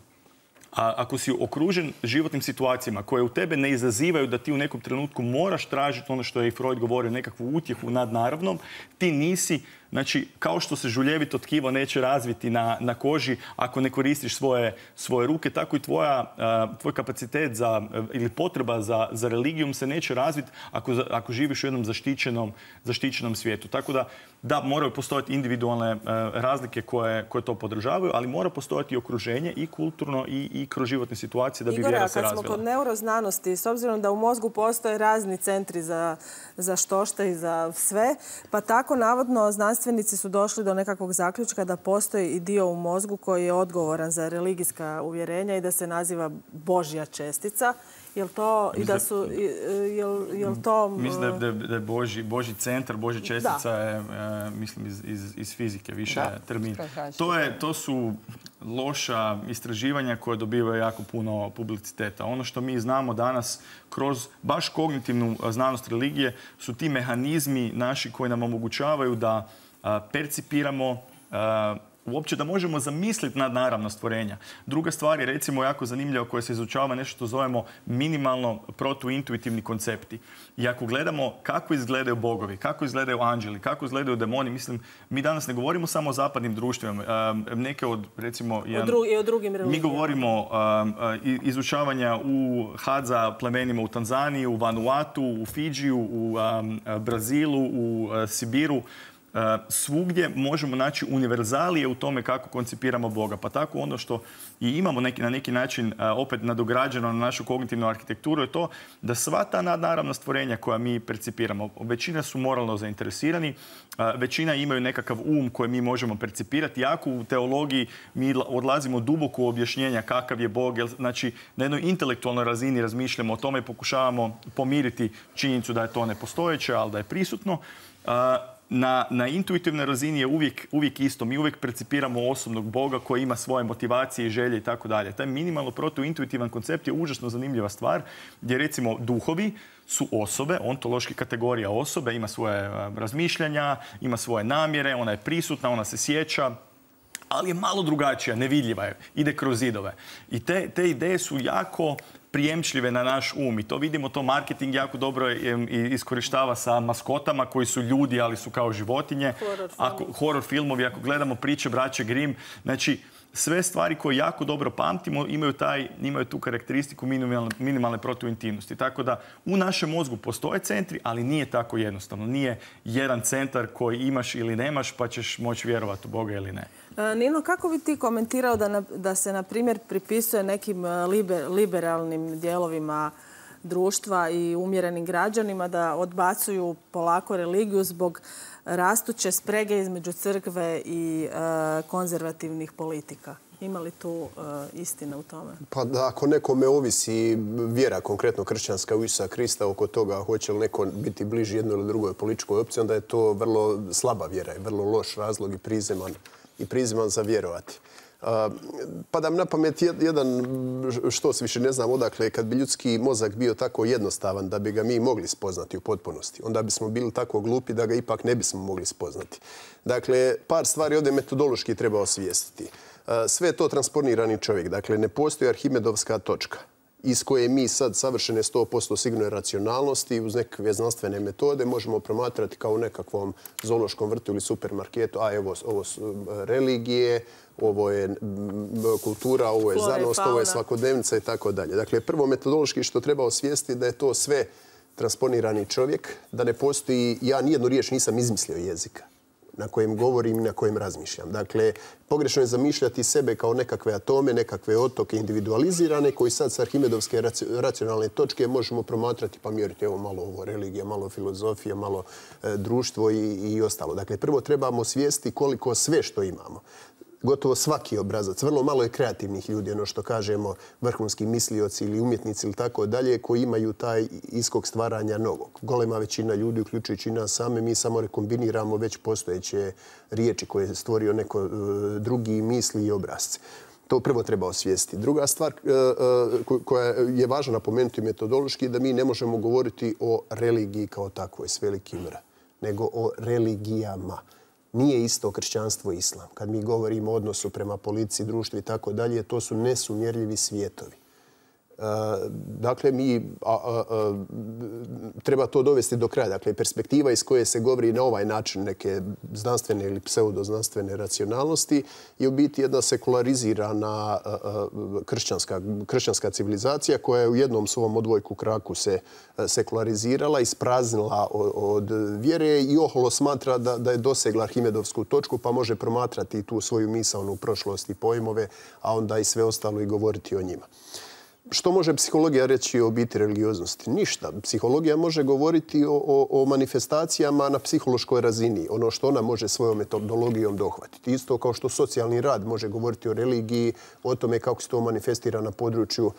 A ako si okružen životnim situacijama koje u tebe ne izazivaju da ti u nekom trenutku moraš tražiti ono što je i Freud govorio, nekakvu utjehu nad naravnom, ti nisi, znači, kao što se žuljevito tkivo neće razviti na, na koži ako ne koristiš svoje, svoje ruke, tako i tvoja, uh, tvoj kapacitet za, uh, ili potreba za, za religijom se neće razviti ako, ako živiš u jednom zaštićenom, zaštićenom svijetu. Tako da, da, moraju postojati individualne uh, razlike koje, koje to podržavaju, ali mora postojati i okruženje i kulturno i, i kroz životne situacije da bi Igore, vjera se razvila. Igore, kad smo kod neuroznanosti, s obzirom da u mozgu postoje razni centri za, za štošta i za sve, pa tako navodno znanstveni znanstvenici su došli do nekakvog zaključka da postoji i dio u mozgu koji je odgovoran za religijska uvjerenja i da se naziva Božja čestica. Jel to i da su jel, jel to mislim da je, da je Božji, Božji centar, Božja čestica je e, mislim iz, iz, iz fizike više da. termin. To je to su loša istraživanja koje dobivaju jako puno publiciteta. Ono što mi znamo danas kroz baš kognitivnu znanost religije su ti mehanizmi naši koji nam omogućavaju da a, percipiramo a, uopće da možemo zamisliti nadnaravna stvorenja. Druga stvar je recimo jako zanimljiva koja se izučava nešto što zovemo minimalno protuintuitivni koncepti. I ako gledamo kako izgledaju bogovi, kako izgledaju anđeli, kako izgledaju demoni, mislim, mi danas ne govorimo samo o zapadnim društvima. Neke od, recimo... I o, dru o drugim religijama. Mi govorimo um, izučavanja u Hadza plemenima u Tanzaniji, u Vanuatu, u Fidžiju, u um, Brazilu, u uh, Sibiru. Uh, svugdje možemo naći univerzalije u tome kako koncipiramo Boga. Pa tako ono što i imamo neki, na neki način uh, opet nadograđeno na našu kognitivnu arhitekturu je to da sva ta nadnaravna stvorenja koja mi percipiramo, većina su moralno zainteresirani, uh, većina imaju nekakav um koji mi možemo percipirati. Jako u teologiji mi odlazimo duboko u objašnjenja kakav je Bog. Znači, na jednoj intelektualnoj razini razmišljamo o tome i pokušavamo pomiriti činjenicu da je to nepostojeće, ali da je prisutno. Uh, Na, na intuitivnoj razini je uvijek, uvijek isto. Mi uvijek percipiramo osobnog Boga koji ima svoje motivacije i želje i tako dalje. Taj minimalno protuintuitivan koncept je užasno zanimljiva stvar gdje recimo duhovi su osobe, ontološki kategorija osobe, ima svoje razmišljanja, ima svoje namjere, ona je prisutna, ona se sjeća, ali je malo drugačija, nevidljiva je, ide kroz zidove. I te, te ideje su jako prijemčljive na naš um i to vidimo, to marketing jako dobro iskorištava sa maskotama koji su ljudi, ali su kao životinje. Horror, ako, horror filmovi, ako gledamo priče braće Grimm, znači sve stvari koje jako dobro pamtimo imaju, taj, imaju tu karakteristiku minimalne, minimalne protuintimnosti. Tako da u našem mozgu postoje centri, ali nije tako jednostavno. Nije jedan centar koji imaš ili nemaš pa ćeš moći vjerovati u Boga ili ne. Nino, kako bi ti komentirao da, na, da se, na primjer, pripisuje nekim liber, liberalnim dijelovima društva i umjerenim građanima da odbacuju polako religiju zbog rastuće sprege između crkve i e, konzervativnih politika? Ima li tu e, istina u tome? Pa da, ako nekome ovisi vjera, konkretno kršćanska u Isusa Krista, oko toga hoće li neko biti bliži jednoj ili drugoj političkoj opciji, onda je to vrlo slaba vjera i vrlo loš razlog i prizeman, i prizeman za vjerovati. Pada mi na pamet jedan, što se više ne znam odakle, kad bi ljudski mozak bio tako jednostavan da bi ga mi mogli spoznati u potpunosti, onda bismo bili tako glupi da ga ipak ne bismo mogli spoznati. Dakle, par stvari ovdje metodološki treba osvijestiti. Sve je to transponirani čovjek. Dakle, ne postoji arhimedovska točka iz koje mi sad savršene sto posto sigurne racionalnosti uz nekakve znanstvene metode možemo promatrati kao u nekakvom zoološkom vrtu ili supermarketu. A evo, ovo su religije, ovo je kultura, ovo je znanost, ovo je svakodnevnica i tako dalje. Dakle, prvo metodološki što treba osvijestiti da je to sve transponirani čovjek, da ne postoji, ja nijednu riječ nisam izmislio jezika na kojem govorim i na kojem razmišljam. Dakle, pogrešno je zamišljati sebe kao nekakve atome, nekakve otoke individualizirane koji sad s arhimedovske racionalne točke možemo promatrati pa mjeriti evo malo ovo religija, malo filozofija, malo e, društvo i, i ostalo. Dakle, prvo trebamo svijesti koliko sve što imamo. Gotovo svaki obrazac, vrlo malo je kreativnih ljudi, ono što kažemo vrhunski mislioci ili umjetnici ili tako dalje, koji imaju taj iskog stvaranja novog. Golema većina ljudi, uključujući nas same, mi samo rekombiniramo već postojeće riječi koje je stvorio neko uh, drugi misli i obrazce. To prvo treba osvijestiti. Druga stvar uh, koja je važna napomenuti metodološki je da mi ne možemo govoriti o religiji kao takvoj s velikim R, nego o religijama. Nije isto kršćanstvo i islam. Kad mi govorimo o odnosu prema policiji, društvu i tako dalje, to su nesumjerljivi svijetovi. E, dakle, mi a, a, a, treba to dovesti do kraja. Dakle, perspektiva iz koje se govori na ovaj način neke znanstvene ili pseudoznanstvene racionalnosti je u biti jedna sekularizirana a, a, kršćanska, kršćanska civilizacija koja je u jednom svom odvojku kraku se sekularizirala, ispraznila od vjere i oholo smatra da, da je dosegla arhimedovsku točku pa može promatrati tu svoju misaonu prošlost i pojmove, a onda i sve ostalo i govoriti o njima. Što može psihologija reći o biti religioznosti? Ništa. Psihologija može govoriti o, o, o manifestacijama na psihološkoj razini. Ono što ona može svojom metodologijom dohvatiti. Isto kao što socijalni rad može govoriti o religiji, o tome kako se to manifestira na području,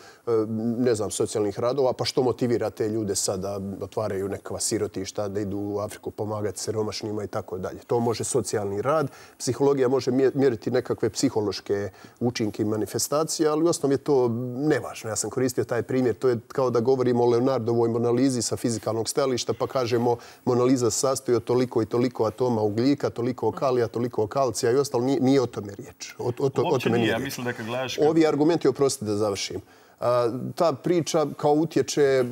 ne znam, socijalnih radova, pa što motivira te ljude sada da otvaraju nekakva sirotišta, da idu u Afriku pomagati siromašnima i tako dalje. To može socijalni rad. Psihologija može mjeriti nekakve psihološke učinke i manifestacije, ali u osnovi je to nevažno. Ja sam koristio taj primjer. To je kao da govorimo o Leonardovoj Monalizi sa fizikalnog stajališta, pa kažemo Monaliza se sastoji od toliko i toliko atoma ugljika, toliko kalija, toliko kalcija i ostalo. Nije, nije o tome riječ. O, o, to, o tome nije. Ja mislim da kad gledaš... Ovi argumenti, oprostite da završim. Ta priča kao utječe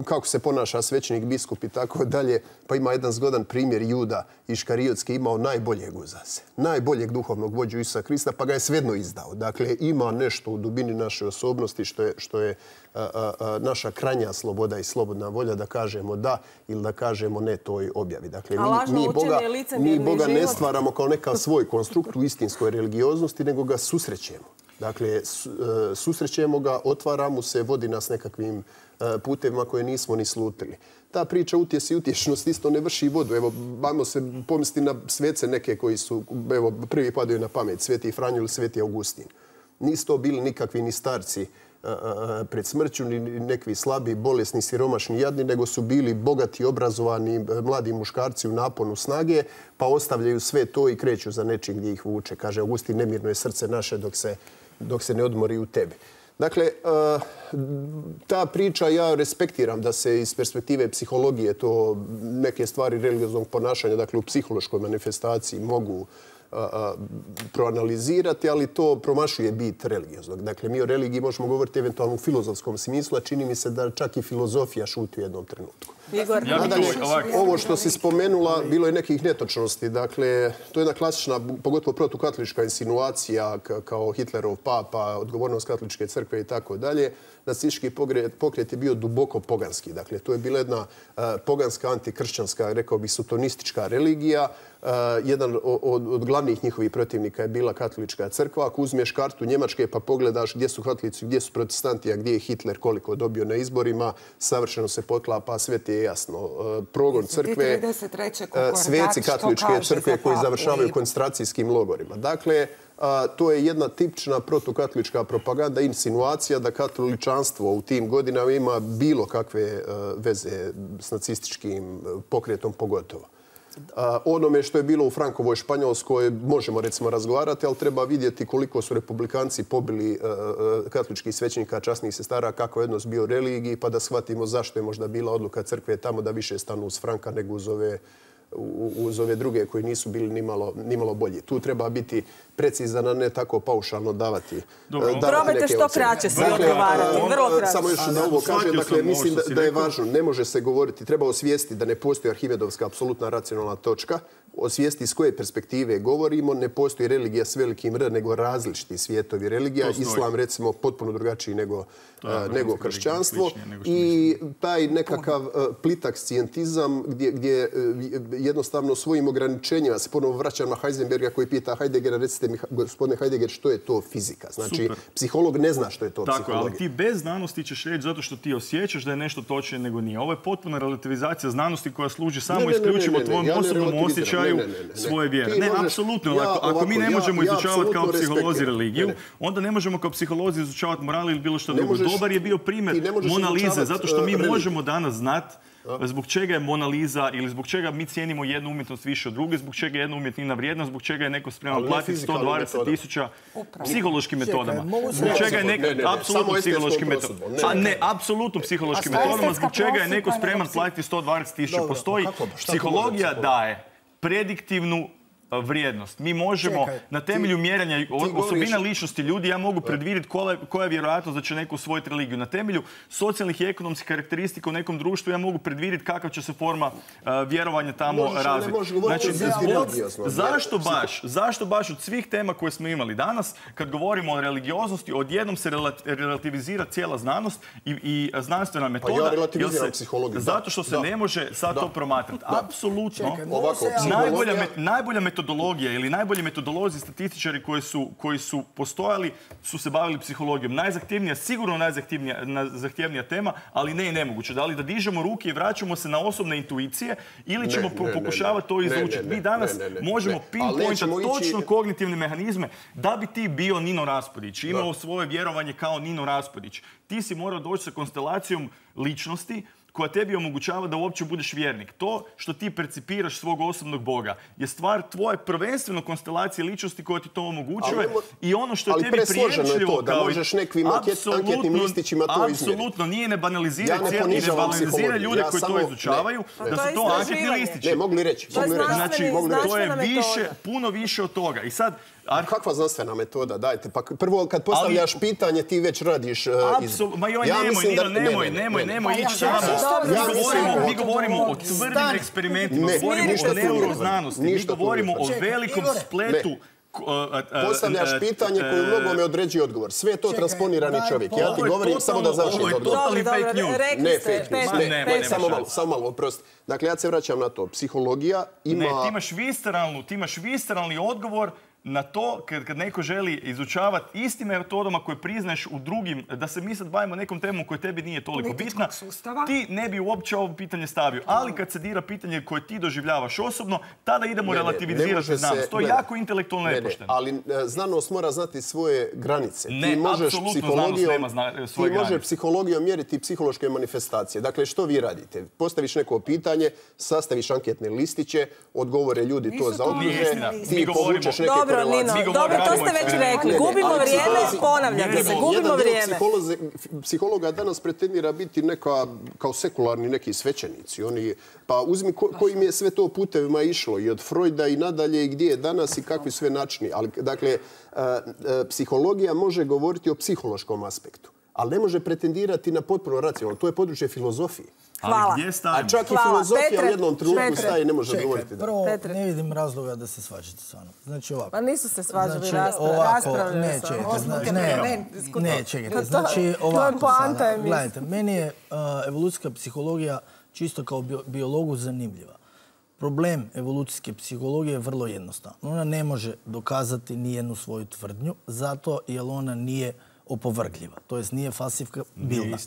kako se ponaša svećenik, biskup i tako dalje. Pa ima jedan zgodan primjer. Juda Iškariotski imao najboljeg uza se. Najboljeg duhovnog vođu Isusa Krista, pa ga je svejedno izdao. Dakle, ima nešto u dubini naše osobnosti što je, što je a, a, a, naša krajnja sloboda i slobodna volja da kažemo da ili da kažemo ne toj objavi. Dakle, mi, mi Boga, mi Boga ne stvaramo kao neka svoj konstrukt u istinskoj religioznosti, nego ga susrećemo. Dakle, susrećemo ga, otvaramo se, vodi nas nekakvim putevima koje nismo ni slutili. Ta priča utjesi i utješnost isto ne vrši vodu. Evo, bavimo se pomisliti na svece neke koji su, evo, prvi padaju na pamet, Sveti Franjo ili Sveti Augustin. Nisu to bili nikakvi ni starci pred smrću, ni nekvi slabi, bolesni, siromašni, jadni, nego su bili bogati, obrazovani, mladi muškarci u naponu snage, pa ostavljaju sve to i kreću za nečim gdje ih vuče. Kaže Augustin, nemirno je srce naše dok se, dok se ne odmori u tebi. Dakle, ta priča ja respektiram da se iz perspektive psihologije to neke stvari religioznog ponašanja, dakle u psihološkoj manifestaciji mogu proanalizirati, ali to promašuje bit religioznog. Dakle, mi o religiji možemo govoriti eventualno u filozofskom smislu, a čini mi se da čak i filozofija šuti u jednom trenutku. Igor, nadalje, ovo što si spomenula, bilo je nekih netočnosti. Dakle, to je jedna klasična, pogotovo protukatolička insinuacija kao Hitlerov papa, odgovornost katoličke crkve i tako dalje. Nacistički pokret je bio duboko poganski. Dakle, to je bila jedna poganska, antikršćanska, rekao bih, sotonistička religija. Jedan od glavnih njihovih protivnika je bila katolička crkva. Ako uzmeš kartu Njemačke pa pogledaš gdje su katolici, gdje su protestanti, a gdje je Hitler koliko dobio na izborima, savršeno se poklapa, sve ti je jasno. Progon crkve, sveci katoličke crkve koji završavaju koncentracijskim logorima. Dakle, to je jedna tipična protukatolička propaganda, insinuacija da katoličanstvo u tim godinama ima bilo kakve veze s nacističkim pokretom pogotovo. Onome što je bilo u Frankovoj Španjolskoj možemo recimo razgovarati, ali treba vidjeti koliko su republikanci pobili katoličkih svećenika, časnih sestara, kako je odnos bio religiji, pa da shvatimo zašto je možda bila odluka crkve tamo da više stanu uz Franka nego uz ove uz ove druge koji nisu bili nimalo, nimalo bolji. Tu treba biti precizan, a ne tako paušalno davati. Probajte što kraće se odgovarati. Vrlo kraće. Samo još da ovo kažem, dakle, mislim da, da je važno. Ne može se govoriti, treba osvijestiti da ne postoji Arhimedovska apsolutna racionalna točka. Osvijesti iz koje perspektive govorimo. Ne postoji religija s velikim R, nego različiti svijetovi religija. Islam, recimo, potpuno drugačiji nego, nego kršćanstvo. I taj nekakav plitak scijentizam gdje, gdje jednostavno svojim ograničenjima se ponovo vraćam na Heisenberga koji pita Heideggera, recite mi, gospodine Heidegger, što je to fizika? Znači, super. Psiholog ne zna što je to tako, psihologija. Ali ti bez znanosti ćeš reći zato što ti osjećaš da je nešto točnije nego nije. Ovo je potpuna relativizacija znanosti koja služi samo isključivo tvojom osobnom osjećaju svoje vjere. Ne, apsolutno. Ako mi ne možemo izučavati kao psiholozi religiju, onda ne možemo kao psiholozi izučavati moral ili bilo što drugo. Dobar je bio primjer Monalize, zato što mi možemo danas znati zbog čega je Mona Lisa ili zbog čega mi cijenimo jednu umjetnost više od druge, zbog čega je jedna umjetnina vrijedna, zbog čega je neko spreman platiti sto dvadeset tisuća psihološkim metodama. Zbog čega je neko, apsolutno psihološkim metodama. A ne, apsolutno psihološkim metodama, zbog čega je neko spreman platiti sto dvadeset tisuća. Postoji, psihologija daje prediktivnu vrijednost. Mi možemo Čekaj, na temelju ti, mjerenja ti osobina govoriš... ličnosti ljudi, ja mogu predvidjeti koja, koja je vjerojatnost da će neko usvojiti religiju. Na temelju socijalnih i ekonomskih karakteristika u nekom društvu ja mogu predvidjeti kakva će se forma uh, vjerovanja tamo razviti. Znači, zbog, zašto baš, zašto baš od svih tema koje smo imali danas, kad govorimo o religioznosti, odjednom se relativizira cijela znanost i, i znanstvena metoda. Pa ja relativiziram psihologiju. Zato što se da. ne može sad da. to promatrati. Apsolutno. Ovako, najbolja, met, najbolja metodologija ili najbolji metodolozi statističari koji su, koji su postojali su se bavili psihologijom. Najzahtjevnija, sigurno najzahtjevnija tema, ali ne i nemoguće. Da li da dižemo ruke i vraćamo se na osobne intuicije ili ćemo ne, ne, pokušavati to izlučiti. Mi danas ne, ne, ne, možemo pinpointati točno ići... kognitivne mehanizme da bi ti bio Nino Raspudić, imao da. svoje vjerovanje kao Nino Raspudić. Ti si morao doći sa konstelacijom ličnosti koja tebi omogućava da uopće budeš vjernik. To što ti percipiraš svog osobnog Boga je stvar tvoje prvenstveno konstelacije ličnosti koja ti to omogućuje ali, i ono što je tebi prijemčljivo da možeš nekim anketnim listićima to izmjeriti. Apsolutno nije ne banalizira ja cijeli, ne banalizira ljude ja koji samo, to izučavaju, ne, da su to anketni listići. Ne, mogli reći. To je, mogli reći. Znači, to je više, puno više od toga. I sad, Ar... Kakva znanstvena metoda? Dajte, pa prvo kad postavljaš ali... pitanje ti već radiš... Uh, Apsolutno, iz... ma joj, ja nemoj, Nino, da... nemoj, ne, nemoj, nemoj ne, ne, ići samo. Mi govorimo, mi govorimo o tvrdim eksperimentima, ne, govorimo o neuroznanosti, mi govorimo o velikom spletu. Postavljaš pitanje koje u mnogome određuje odgovor. Sve je to transponirani čovjek. Ja ti govorim samo da završim odgovor. Ovo je totalni fake news. Ne fake news, ne. Samo malo, samo malo, oprosti. Dakle, ja se vraćam na to. Psihologija ima... Ne, ti imaš visceralnu, ti imaš visceralni odgovor na to kad, kad neko želi izučavati istim metodama koje priznaješ u drugim, da se mi sad bavimo nekom temom koja tebi nije toliko bitna, ti ne bi uopće ovo pitanje stavio. Ali kad se dira pitanje koje ti doživljavaš osobno, tada idemo ne, relativizirati ne, znanost. To je jako intelektualno nepošteno. Ali ne, znanost mora znati svoje granice. Ne, ti možeš psihologijom, nema zna, svoje ti možeš psihologijom mjeriti psihološke manifestacije. Dakle, što vi radite? Postaviš neko pitanje, sastaviš anketne listiće, odgovore ljudi Nisu to zaokruže, ti povučeš neke korelacije. Nino, dobro, to ste već rekli. Gubimo vrijeme, ponavljate se, gubimo vrijeme. Psihologa danas pretendira biti neka, kao sekularni neki svećenici. Oni, pa uzmi ko, kojim je sve to putevima išlo i od Freuda i nadalje i gdje je danas i kakvi sve načini. Ali, dakle, psihologija može govoriti o psihološkom aspektu, ali ne može pretendirati na potpuno racionalno. To je područje filozofije. Hvala. A čak i filozofija u jednom trenutku staje i ne može govoriti. Prvo, ne vidim razloga da se svađate s vama. Znači ovako. Pa nisu se svađali raspravljali. Ne, čekajte. Ne, ne, čekajte. Znači ovako sada. Gledajte, meni je evolucijska psihologija čisto kao biologu zanimljiva. Problem evolucijske psihologije je vrlo jednostavan. Ona ne može dokazati nijednu svoju tvrdnju, zato jer ona nije opovrgljiva. To jest nije falsifikabilna.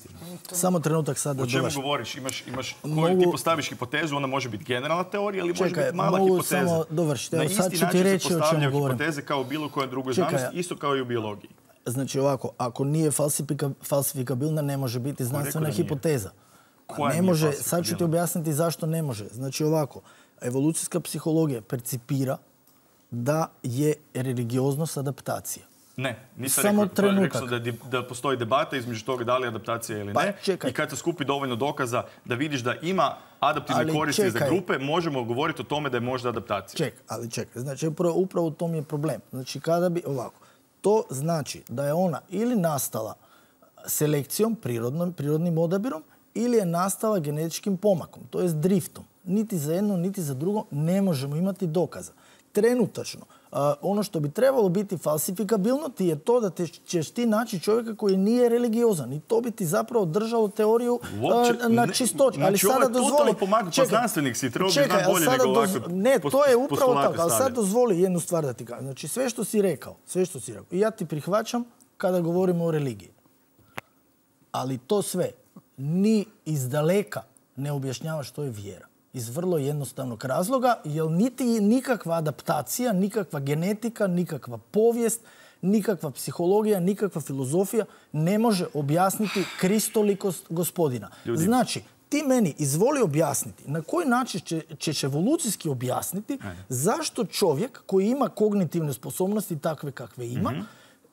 Samo trenutak sad da dovršim. O čemu govoriš? Imaš, imaš koju ti postaviš hipotezu, ona može biti generalna teorija ili može biti mala hipoteza. Samo dovršiti. Na isti način se postavljaju hipoteze kao u bilo kojoj drugoj znanosti, isto kao i u biologiji. Znači ovako, ako nije falsifikabilna, ne može biti znanstvena hipoteza. Ne može, sad ću ti objasniti zašto ne može. Znači ovako, evolucijska psihologija percipira da je religioznost adaptacija. Ne, nisam rekao, rekao da, da postoji debata između toga da li je adaptacija ili pa, ne. Čekaj. I kad se skupi dovoljno dokaza da vidiš da ima adaptivne ali koristi čekaj. za grupe, možemo govoriti o tome da je možda adaptacija. Čekaj, ali čekaj. Znači, upravo, upravo u tom je problem. Znači, kada bi ovako, to znači da je ona ili nastala selekcijom, prirodnom, prirodnim odabirom, ili je nastala genetičkim pomakom, to jest driftom. Niti za jedno, niti za drugo ne možemo imati dokaza. Trenutačno, Uh, ono što bi trebalo biti falsifikabilno ti je to da te, ćeš ti naći čovjeka koji nije religiozan i to bi ti zapravo držalo teoriju Uopće, uh, na čistoći. Znači ovo je totalno pomagati, pa znanstvenik si, trebao bi znam bolje nego ovako. Ne, to je upravo tako, ali sad dozvoli jednu stvar da ti kažem. Znači sve što si rekao, sve što si rekao, i ja ti prihvaćam kada govorimo o religiji. Ali to sve ni iz daleka ne objašnjava što je vjera. Iz vrlo jednostavnog razloga, jer niti nikakva adaptacija, nikakva genetika, nikakva povijest, nikakva psihologija, nikakva filozofija ne može objasniti kristolikost gospodina. Ljudi. Znači, ti meni izvoli objasniti na koji način će, ćeš evolucijski objasniti Ajde. zašto čovjek koji ima kognitivne sposobnosti takve kakve ima, mm-hmm.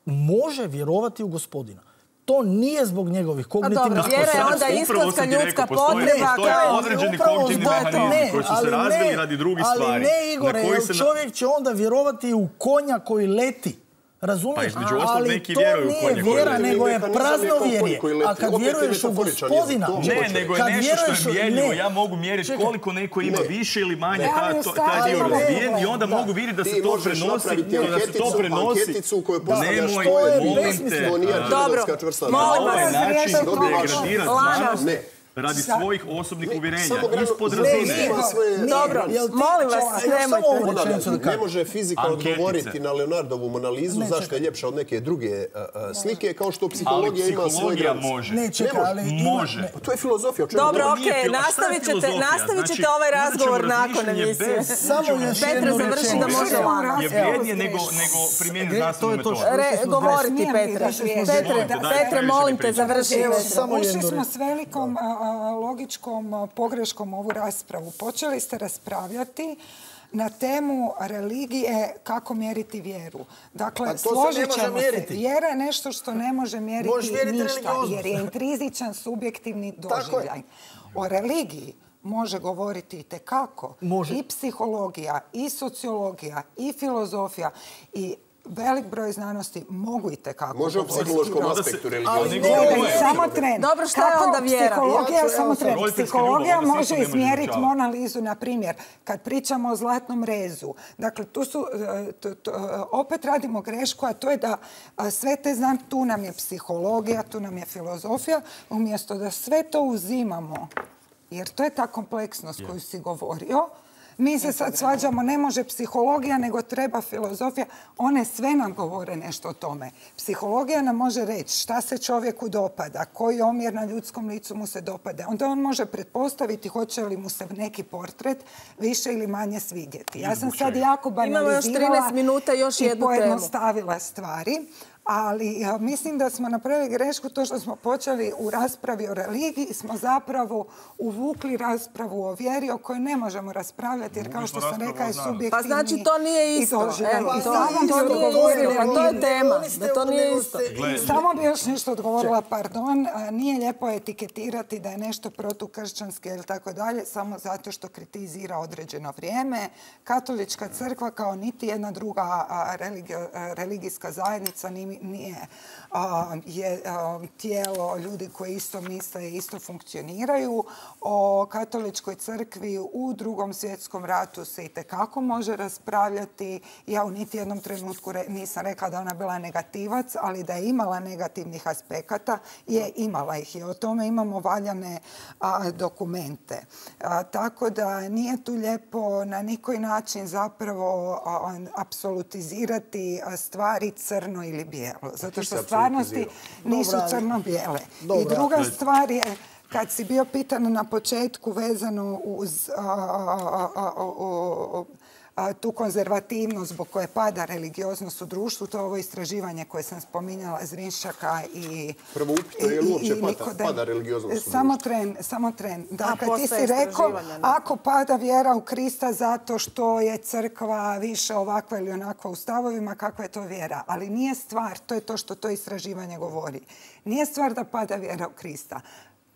može vjerovati u gospodina. To nije zbog njegovih kognitivnih sposobnosti. Vjera je onda istinska ljudska potreba. Postoje određeni kognitivni mehanizmi koji su se razvili radi drugih stvari. Ali ne, Igore, jer čovjek će onda vjerovati u konja koji leti. Razumiješ? Pa između ostalog neki vjeruju u konja koji leti. To nije vjera, nego je praznovjerje. A kad vjeruješ u gospodina... Ne, nego je nešto što je mjerljivo. Ja mogu mjeriti koliko neko ima više ili manje taj dio razvijen i onda mogu vidjeti da se to prenosi. Da se to prenosi. Nemoj, molim te. Dobro, molim vas. Način degradirati znanost. radi svojih osobnih uvjerenja, ispod Ne, razine. nema svoje- Dobro, Jel ti- molim vas, čekaj, nemojte. samo ovu Ponavljam, rečenicu da ne kažem. može fizika Anketice. odgovoriti na Leonardovu Monalizu Ne, zašto čekaj. je ljepša od neke druge a, a, slike, kao što psihologija Ali ima svoje psihologija granice. može. Ne, čekaj, može. ali ima- Može. ne. To je filozofija. O čemu Dobro, govorimo. Nije okej, filo- a šta je nastavit ćete, filozofija? nastavit ćete Znači, ovaj imat ćemo razgovor nakon razmišljanje emisije. bez- Samo još Petre, jednu završi da rečenicu. može lako. je vrijednije nego, nego primijeniti E, to znanstvenu je to metodu. što- Re, govoriti, Smijem Petre. li reći? Petre, Dajte, dajte, Petre, previše molim mi te, pričate. završi. Evo, Petre. samo ušli jednu smo reč. s velikom a, a, logičkom a, pogreškom ovu raspravu. Počeli ste raspravljati na temu religije kako mjeriti vjeru. Dakle, A to se ne složit može ćemo se. mjeriti. Vjera je nešto što ne može mjeriti Možeš mjeriti ništa, religioznost. jer je intrizičan, subjektivni Tako je. doživljaj. O religiji može govoriti itekako. Može. I psihologija, i sociologija, i filozofija, i velik broj znanosti mogu itekako Može u govoriti. psihološkom Da se- aspektu Ali religijoznosti. nego- Čekaj, Ovo je- samo tren. Dobro, šta je Kako onda vjera? Psihologija, Ja ću- samo evo tren. sad. Roditeljska Psihologija ljubav, onda se može isto ne može izmjeriti izučavati. Monalizu, na primjer, kad pričamo o zlatnom rezu. Dakle, tu su, e, to- to, e, opet radimo grešku, a to je da a, sve te znam, tu nam je psihologija, tu nam je filozofija, umjesto da sve to uzimamo, jer to je ta kompleksnost koju si govorio. Mi se sad svađamo, ne može psihologija, nego treba filozofija. One sve nam govore nešto o tome. Psihologija nam može reći šta se čovjeku dopada, koji omjer na ljudskom licu mu se dopada. Onda on može pretpostaviti hoće li mu se neki portret više ili manje svidjeti. Ja sam sad jako Imamo još banalizirala trinaest minuta, još i jednu temu. pojednostavila stvari. Ali ja, mislim da smo napravili grešku to što smo počeli u raspravi o religiji, smo zapravo uvukli raspravu o vjeri o kojoj ne možemo raspravljati, jer kao Uvukli što smo sam raspravu rekla je o znanosti. subjektivni. Pa znači to nije i isto. doživljaj. Evo, I to- sama to bi nije odgovorila. istina, to je tema, da to nije nego isto. ste- Gle, Samo bi još nešto odgovorila, pardon, a, nije lijepo etiketirati da je nešto protukršćanski ili tako dalje, samo zato što kritizira određeno vrijeme. Katolička crkva kao niti jedna druga a, religio- a, religijska zajednica ni- nije a, je a, tijelo ljudi koji isto misle i isto funkcioniraju. O katoličkoj crkvi u Drugom svjetskom ratu se itekako može raspravljati. Ja u niti jednom trenutku re- nisam rekla da ona bila negativac, ali da je imala negativnih aspekata, je imala ih i o tome imamo valjane a, dokumente. A, tako da nije tu lijepo na nikoji način zapravo a, apsolutizirati a, stvari crno ili bijelo. Zato što se stvarnosti apsolutizirao? nisu Dobra, ali- crno-bijele. I Dobra. druga stvar je, kad si bio pitan na početku vezano uz a, a, a, a, o- a, tu konzervativnost zbog koje pada religioznost u društvu, to je ovo istraživanje koje sam spominjala Zrinšaka i... Prvo upitno, je li i- uopće i pada- Nikodem. pada religioznost u Samo društvu? tren, samo tren. Dakle, ti postoje si rekao, istraživanja, ne? ako pada vjera u Krista zato što je crkva više ovakva ili onakva u stavovima, kakva je to vjera? Ali nije stvar, to je to što to istraživanje govori. Nije stvar da pada vjera u Krista.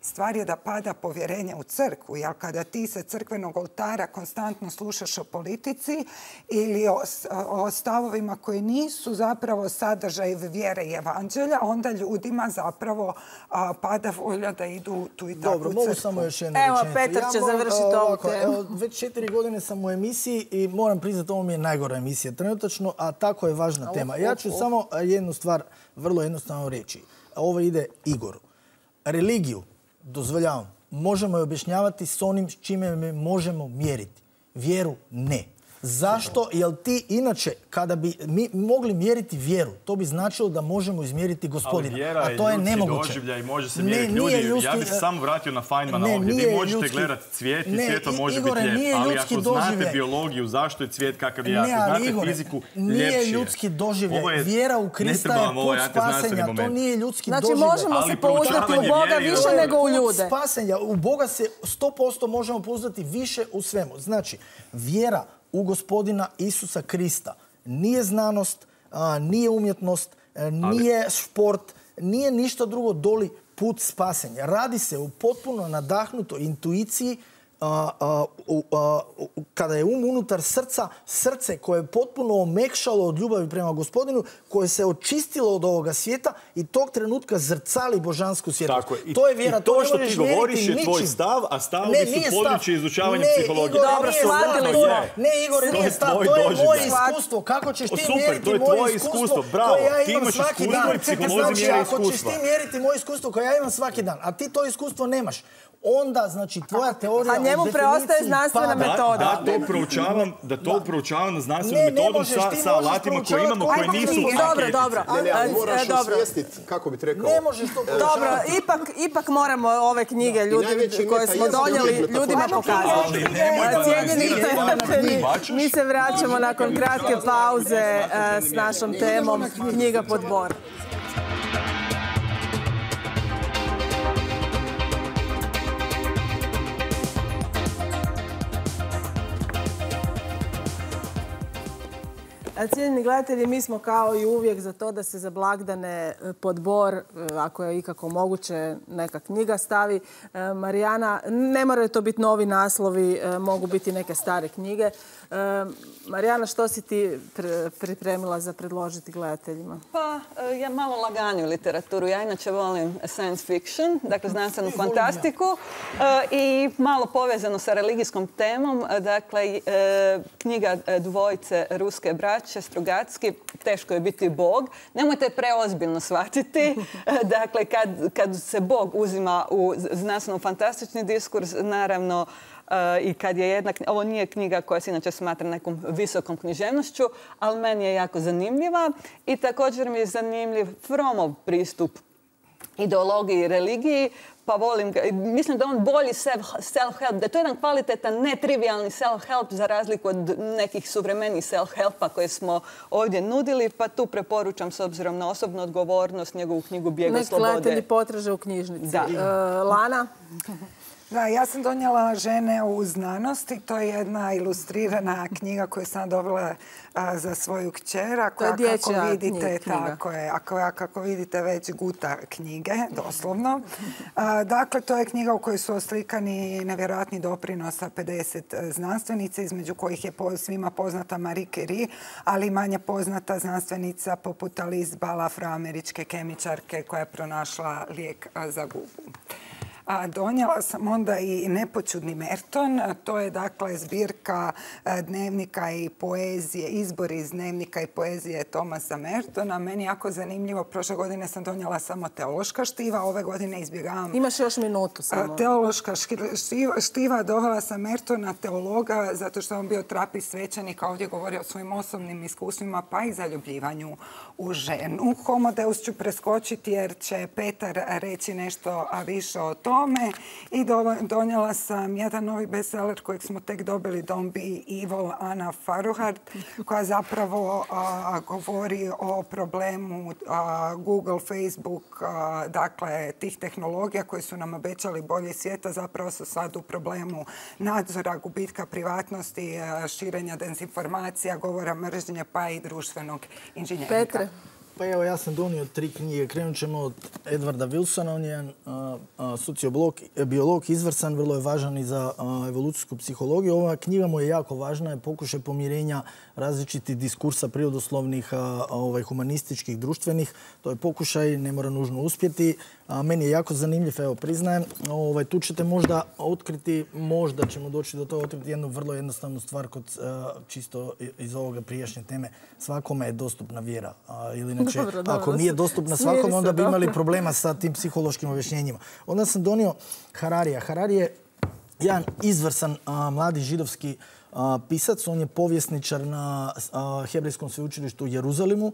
Stvar je da pada povjerenje u crkvu, jer kada ti sa crkvenog oltara konstantno slušaš o politici ili o, o stavovima koji nisu zapravo sadržaj vjere i evanđelja, onda ljudima zapravo a, pada volja da idu tu i takvu Dobro, mogu crkvu. samo još jednu Evo, rečenicu. Petar će moram, završiti a, ovu ovako, temu. evo, već četiri godine sam u emisiji i moram priznati, ovo mi je najgora emisija trenutačno, a tako je važna tema. Ja ću samo jednu stvar vrlo jednostavno reći. Ovo ide Igoru. Religiju, dozvoljavam, možemo je objašnjavati s onim s čime je možemo mjeriti. Vjeru ne. Zašto? Jer ti inače, kada bi mi mogli mjeriti vjeru, to bi značilo da možemo izmjeriti Ali gospodina. vjera A je to je ljudski nemoguće. doživljaj, može se Ne, mjeriti nije ljudi. Ja ljudski- bih se samo vratio na Feynmana Ne, ovdje. Vi nije možete ljudski- gledati cvijet i Ne, cvijetom I- može Igore, biti nije lijep. Ali ljudski ako znate doživljaj. biologiju, zašto je cvijet kakav je, Ne, ako ali znate Igore, fiziku, nije ljepši je. ljudski doživljaj. Ovo je- Vjera u ne Krista treba je vam ovaj put antiznanstveni spasenja. To moment. nije ljudski Znači, doživljaj. možemo Ali se pouzdati u proučavanje Boga vjere je više ovo. nego u Put ljude. spasenja. U Boga se sto posto možemo pouzdati više u svemu. Znači, vjera u gospodina Isusa Krista nije znanost, a, nije umjetnost, a, nije šport, nije ništa drugo doli put spasenja. Radi se u potpuno nadahnutoj intuiciji a, a, a, kada je um unutar srca, srce koje je potpuno omekšalo od ljubavi prema Gospodinu, koje se očistilo od ovoga svijeta i tog trenutka zrcali božansku svjetlost. Tako je. I, to je vjera. i to ne što možeš ti govoriš mjeriti je tvoj ničim. stav, a stavovi Ne, su nije stav. područje izučavanja Ne, psihologije. Igor, Dobro, nije shvatili stav, to smo. je- Ne, Igor, To nije je stav. tvoj To je moje doživljaj. iskustvo. Kako ćeš O, ti super, mjeriti to je moje tvoje iskustvo iskustvo, bravo. koje ja Ti imam imaš svaki iskustvo dan? i psiholozi Znači, mjere ako ćeš iskustva. ti mjeriti moje iskustvo koje ja imam svaki dan, a ti to iskustvo nemaš, onda, znači, tvoja teorija... A njemu u preostaje definiciji znanstvena pada. metoda. Da, da to proučavam, da to proučavam na znanstvenu Ne, ne metodom možeš, sa, ti sa možeš alatima koje proučavati imamo, koje koji imamo nisu knjige. Dobro, aketici. dobro. Ne, ne, ali E, moraš dobro. osvijestiti, kako bi ti rekao. Ne možeš to Dobro, proučavati. ipak, ipak moramo ove knjige ljudi, najveći koje meta smo jezik donijeli je ljudima metafora. pokazati. Ali nemoj E, Cijenjeni banalizirati gledatelji, bačaš. mi se vraćamo nakon kratke pauze e, s našom temom Knjiga pod bor. Cijenjeni gledatelji, mi smo kao i uvijek za to da se za blagdane pod bor, ako je ikako moguće, neka knjiga stavi. Marijana, ne moraju to biti novi naslovi, mogu biti neke stare knjige. Marijana, što si ti pripremila za predložiti gledateljima? Pa, ja malo laganju literaturu. Ja inače volim science fiction, dakle znanstvenu fantastiku i malo povezano sa religijskom temom. Dakle, knjiga dvojice ruske braće, Strugatski, Teško je biti Bog. Nemojte preozbiljno shvatiti. Dakle, kad, kad se Bog uzima u znanstveno-fantastični diskurs, naravno, i kad je jedna, ovo nije knjiga koja se inače smatra nekom visokom književnošću, ali meni je jako zanimljiva i također mi je zanimljiv Fromov pristup ideologiji i religiji, pa volim ga. Mislim da on bolji self-help, da je to jedan kvalitetan, netrivialni self-help za razliku od nekih suvremenih self-helpa koje smo ovdje nudili, pa tu preporučam s obzirom na osobnu odgovornost njegovu knjigu Bijeg od slobode. Nek gledatelji potraže u knjižnici. Da. E, Lana? Da, ja sam donijela Žene u znanosti. To je jedna ilustrirana knjiga koju sam dobila a, za svoju kćer. Ako To je ja, kako dječja vidite, knjiga. tako je. Ako ja, kako vidite, već guta knjige, doslovno. A, dakle, to je knjiga u kojoj su oslikani nevjerojatni doprinosa pedeset znanstvenica, između kojih je po, svima poznata Marie Curie, ali manje poznata znanstvenica poput Alice Ball, afroameričke kemičarke koja je pronašla lijek a, za gubu. A donijela sam onda i Nepoćudni Merton. To je dakle zbirka dnevnika i poezije, izbori iz dnevnika i poezije Thomasa Mertona. Meni jako zanimljivo. Prošle godine sam donijela samo teološka štiva, ove godine izbjegavam... Imaš još minutu samo. Teološka štiva, štiva dovela sam Mertona, teologa, zato što on bio trapist svećenik, a ovdje govori o svojim osobnim iskustvima, pa i zaljubljivanju u ženu. Homo Deus ću preskočiti jer će Petar reći nešto više o tome. I donijela sam jedan novi bestseller kojeg smo tek dobili, Don't Be Evil, Anna Faruhard, koja zapravo a, govori o problemu a, Google, Facebook, a, dakle tih tehnologija koji su nam obećali bolje svijeta, zapravo su sad u problemu nadzora, gubitka privatnosti, a, širenja dezinformacija, govora mržnje pa i društvenog inženjeringa. Petre? Pa evo, ja sam donio tri knjige. Krenut ćemo od Edwarda Wilsona. On je jedan sociobiolog, biolog, izvrstan, vrlo je važan i za a, evolucijsku psihologiju. Ova knjiga mu je jako važna, je pokušaj pomirenja različitih diskursa prirodoslovnih, a, a, ovaj, humanističkih, društvenih. To je pokušaj, ne mora nužno uspjeti. A, meni je jako zanimljiv, evo, priznajem. Ovaj, tu ćete možda otkriti, možda ćemo doći do toga, otkriti jednu vrlo jednostavnu stvar kod, a, čisto iz ovoga prijašnje teme. Svakome je dostupna vjera. A, ili inače, dobro, dobro, ako nije dostupna svakome, onda bi imali problema sa tim psihološkim objašnjenjima. Onda sam donio Hararija. Harari je jedan izvrsan a, mladi židovski a, pisac. On je povjesničar na a, Hebrejskom sveučilištu u Jeruzalemu.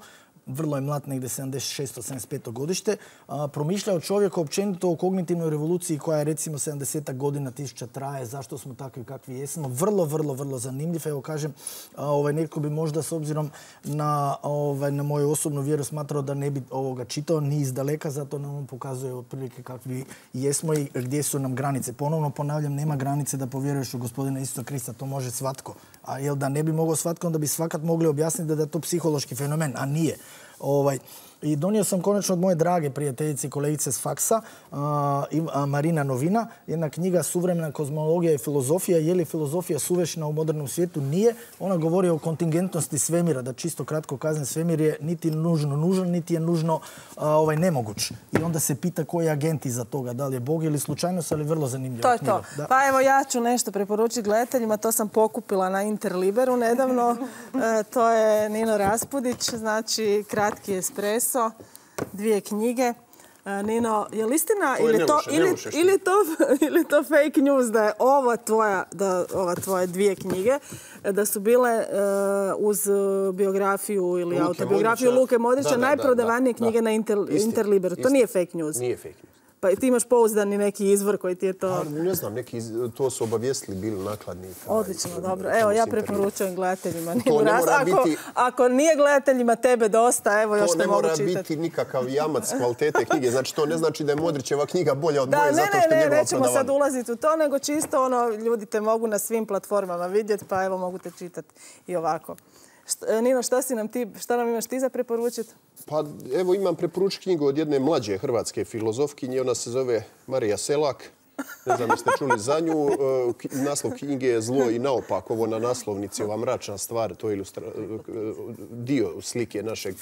Vrlo je mlad, negdje sedamdeset šesto sedamdeset peto godište. A, promišljao čovjeka općenito o kognitivnoj revoluciji koja je recimo sedamdeset godina tisuća traje. Zašto smo takvi kakvi jesmo. Vrlo, vrlo, vrlo zanimljiv. Evo kažem, a, ovaj, netko bi možda s obzirom na, ovaj, na moju osobnu vjeru smatrao da ne bi ovoga čitao ni iz daleka, zato nam on pokazuje otprilike kakvi jesmo i gdje su nam granice. Ponovno ponavljam, nema granice da povjeruješ u Gospodina Isusa Krista. To može svatko. A jel da ne bi mogao svatko, onda bi svakat mogli objasniti da je to psihološki fenomen, a nije. Ovaj, I donio sam konačno od moje drage prijateljice i kolegice s faksa, Marina Novina, jedna knjiga Suvremena kozmologija i filozofija. Je li filozofija suvremena u modernom svijetu? Nije. Ona govori o kontingentnosti svemira, da čisto kratko kazam, svemir je niti nužno nužan, niti je nužno ovaj, nemoguć. I onda se pita koji je agent iza toga, da li je Bog ili slučajnost, ali vrlo zanimljivo. To je to. Pa evo ja ću nešto preporučiti gledateljima, to sam pokupila na Interliberu nedavno. E, to je Nino Raspudić, znači kratki espresso, dvije knjige. E, Nino, je li istina ili to, ili, ili, to, ili to fake news da je ova tvoja, da ova tvoje dvije knjige da su bile e, uz biografiju ili Luke autobiografiju Modrića. Luke Modrića Da, da, najprodavanije da, knjige da. na Inter, Isti, Interliberu. To isti. nije fake news. Nije fake news. Pa ti imaš pouzdani neki izvor koji ti je to... Pa, ne znam, neki, to su obavijestili bili nakladnika. Odlično, dobro. Evo, ja preporučujem gledateljima. To ne mora ako, biti... ako nije gledateljima tebe dosta, evo još To te ne mogu mora čitati. biti nikakav jamac kvalitete knjige. Znači, to ne znači da je Modrićeva knjiga bolja od Da, moje ne, zato ne, što je ne, njegova nećemo sad prodavana. ulaziti u to, nego čisto ono, ljudi te mogu na svim platformama vidjeti, pa evo mogu te čitati i ovako. Št, Nino, šta, si nam ti, šta nam imaš ti za preporučiti? Pa evo imam preporučiti knjigu od jedne mlađe hrvatske filozofkinje. Ona se zove Marija Selak. Ne znam jeste čuli za nju. Naslov knjige je Zlo i naopak. Ovo na naslovnici, ova mračna stvar, to je ilustra... dio slike našeg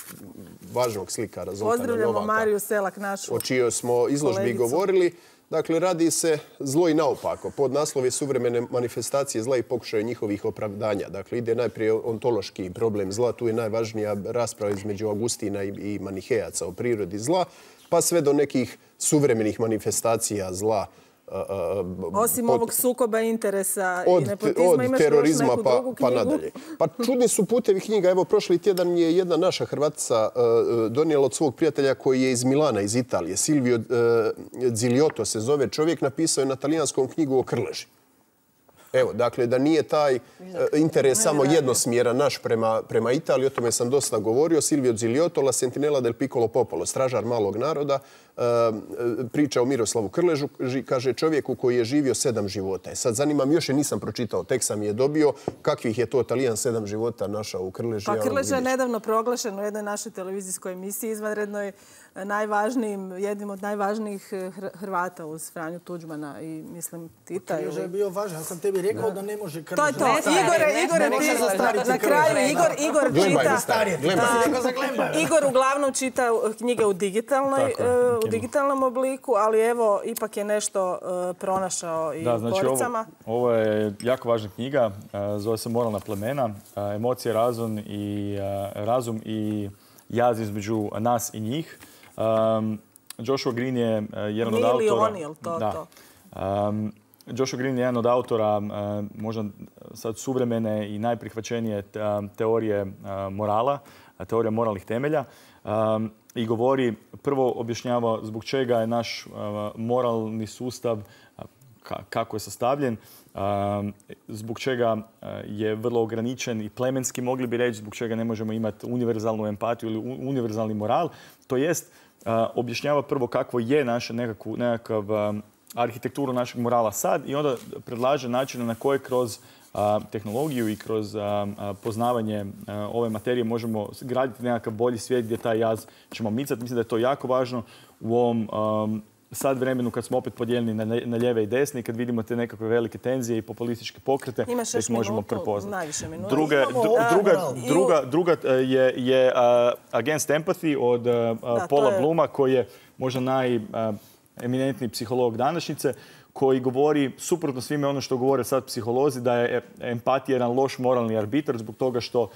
važnog slikara Zoltana Novaka. Pozdravljamo Mariju Selak, našu o čijoj smo izložbi kolegicu. govorili. Dakle, radi se Zlo i naopako. Pod naslov je Suvremene manifestacije zla i pokušaju njihovih opravdanja. Dakle, ide najprije ontološki problem zla. Tu je najvažnija rasprava između Augustina i Manihejaca o prirodi zla, pa sve do nekih suvremenih manifestacija zla. Osim Od- ovog sukoba interesa Od, i nepotizma, od imaš još terorizma neku pa, drugu pa knjigu? nadalje. Pa čudni su putevi knjiga. Evo, prošli tjedan mi je jedna naša Hrvatica uh, donijela od svog prijatelja koji je iz Milana, iz Italije. Silvio uh, Ziliotto se zove čovjek, napisao je na talijanskom knjigu o Krleži. Evo, dakle, da nije taj uh, interes samo jednosmjeran naš prema, prema Italiji, o tome sam dosta govorio. Silvio Ziliotto, La Sentinella del Piccolo Popolo, stražar malog naroda, uh, priča o Miroslavu Krležu, ži, kaže čovjeku koji je živio sedam života. E sad zanimam, još je nisam pročitao, tek sam je dobio, kakvih je to Talijan sedam života našao u Krleži. Pa ja Krleža je vidjet ću. nedavno proglašen u jednoj našoj televizijskoj emisiji izvanrednoj najvažnijim, jednim od najvažnijih Hr- Hrvata uz Franju Tuđmana i mislim Tita. Krleža je Ili... bio važan. Ja sam tebi rekao da ne može Krleža. To je to. zastariti. Igore, ne, Igore, ne može ti, zastariti na Krleža. kraju Igor, Igor Glembaj, čita... starije, glembaj. Ti si rekao za Glembaj. Igor uglavnom čita knjige u, digitalnoj, Tako je, e, u digitalnom obliku, ali evo, ipak je nešto e, pronašao i Da, u znači koricama. ovo, ovo je jako važna knjiga, e, zove se Moralna plemena, e, emocije, razum i, e, razum i jaz između nas i njih. Um, Joshua Green je e, jedan od Mi ili autora... oni, jel to da. to? Um, Joshua Green je jedan od autora e, možda sad suvremene i najprihvaćenije te- teorije e, morala, teorija moralnih temelja. Um, I govori, prvo objašnjava zbog čega je naš uh, moralni sustav, uh, ka- kako je sastavljen, um, zbog čega uh, je vrlo ograničen i plemenski, mogli bi reći, zbog čega ne možemo imati univerzalnu empatiju ili u- univerzalni moral. To jest, uh, objašnjava prvo kakvo je naše nekakvu, nekakav um, arhitekturu našeg morala sad i onda predlaže načine na koje kroz a, tehnologiju i kroz a, a, poznavanje a, ove materije možemo graditi nekakav bolji svijet gdje taj jaz ćemo micati. Mislim da je to jako važno u ovom um, sad vremenu kad smo opet podijeljeni na, na lijeve i desne i kad vidimo te nekakve velike tenzije i populističke pokrete, Imaš da još ih možemo minutu, prepoznati. najviše minuta. Druga, Imamo dru- ovdje druga, moral. druga, druga uh, je, je uh, Against Empathy od uh, to Paula je- Blooma koji je možda najeminentniji psiholog današnjice, koji govori suprotno svime ono što govore sad psiholozi, da je empatija jedan loš moralni arbitar zbog toga što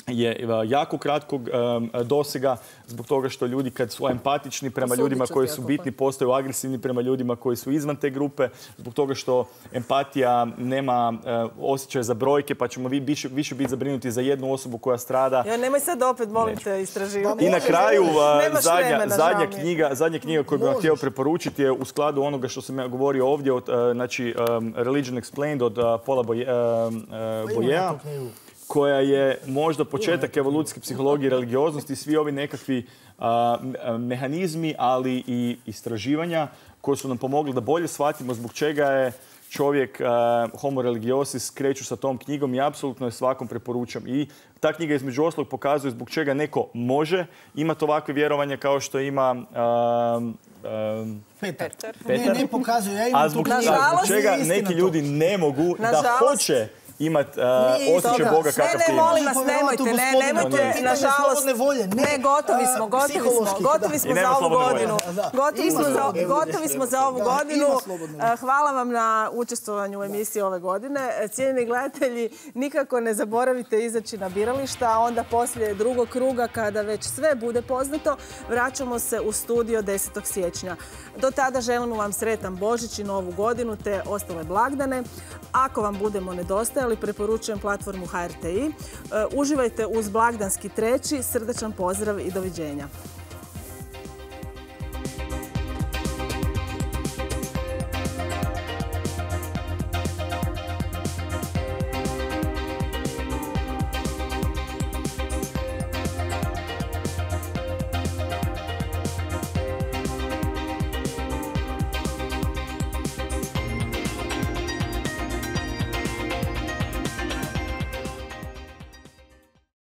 je jako kratkog um, dosega, zbog toga što ljudi kad su empatični prema Osudit ljudima ću koji ti su ako bitni, postaju agresivni prema ljudima koji su izvan te grupe, zbog toga što empatija nema uh, osjećaj za brojke, pa ćemo vi više, više biti zabrinuti za jednu osobu koja strada. Ja, nemoj sad opet, molim te, istraživati. I na kraju, uh, Nemaš zadnja, vremena, zadnja, žao mi je. knjiga, zadnja knjiga koju bih vam Možeš. htio preporučiti je u skladu onoga što sam ja govorio ovdje, od, uh, znači um, Religion Explained od uh, Paula Boye- uh, uh, Boyea, koja je možda početak evolucijske psihologije i religioznosti, svi ovi nekakvi a, mehanizmi, ali i istraživanja koji su nam pomogli da bolje shvatimo zbog čega je čovjek, uh, Homo religiosis, kreću sa tom knjigom i apsolutno je svakom preporučam. I ta knjiga između ostalog pokazuje zbog čega neko može imati ovakve vjerovanja kao što ima uh, um, Petar. Petar. Ne, ne pokazuju. Ja imam a zbog, tu knjigu. a zbog Nažalost, čega nije istina neki to. ljudi ne mogu da Nažalost. hoće imati uh, Nije osjećaj istina. Boga Ne, kakav ne, ti imaš. molim vas, Možemo nemojte, ne, povjerovati u nemojte, gospodina. Pitanje nažalost, slobodne volje, ne. ne, gotovi smo, A, gotovi smo, psihološki, gotovi da. smo I za nema ovu slobodne volje. godinu. Da, da. Gotovi Ima smo za, slobodne volje. gotovi smo za ovu Da, godinu. ima slobodne volje. Hvala vam na učestvovanju u emisiji ove godine. Cijenjeni gledatelji, nikako ne zaboravite izaći na birališta, a onda poslije drugog kruga, kada već sve bude poznato, vraćamo se u studio desetog siječnja. Do tada želimo vam sretan Božić i Novu godinu te ostale blagdane. Ako vam budemo nedostajali, preporučujem platformu H R T I. Uživajte uz blagdanski treći, srdačan pozdrav i doviđenja.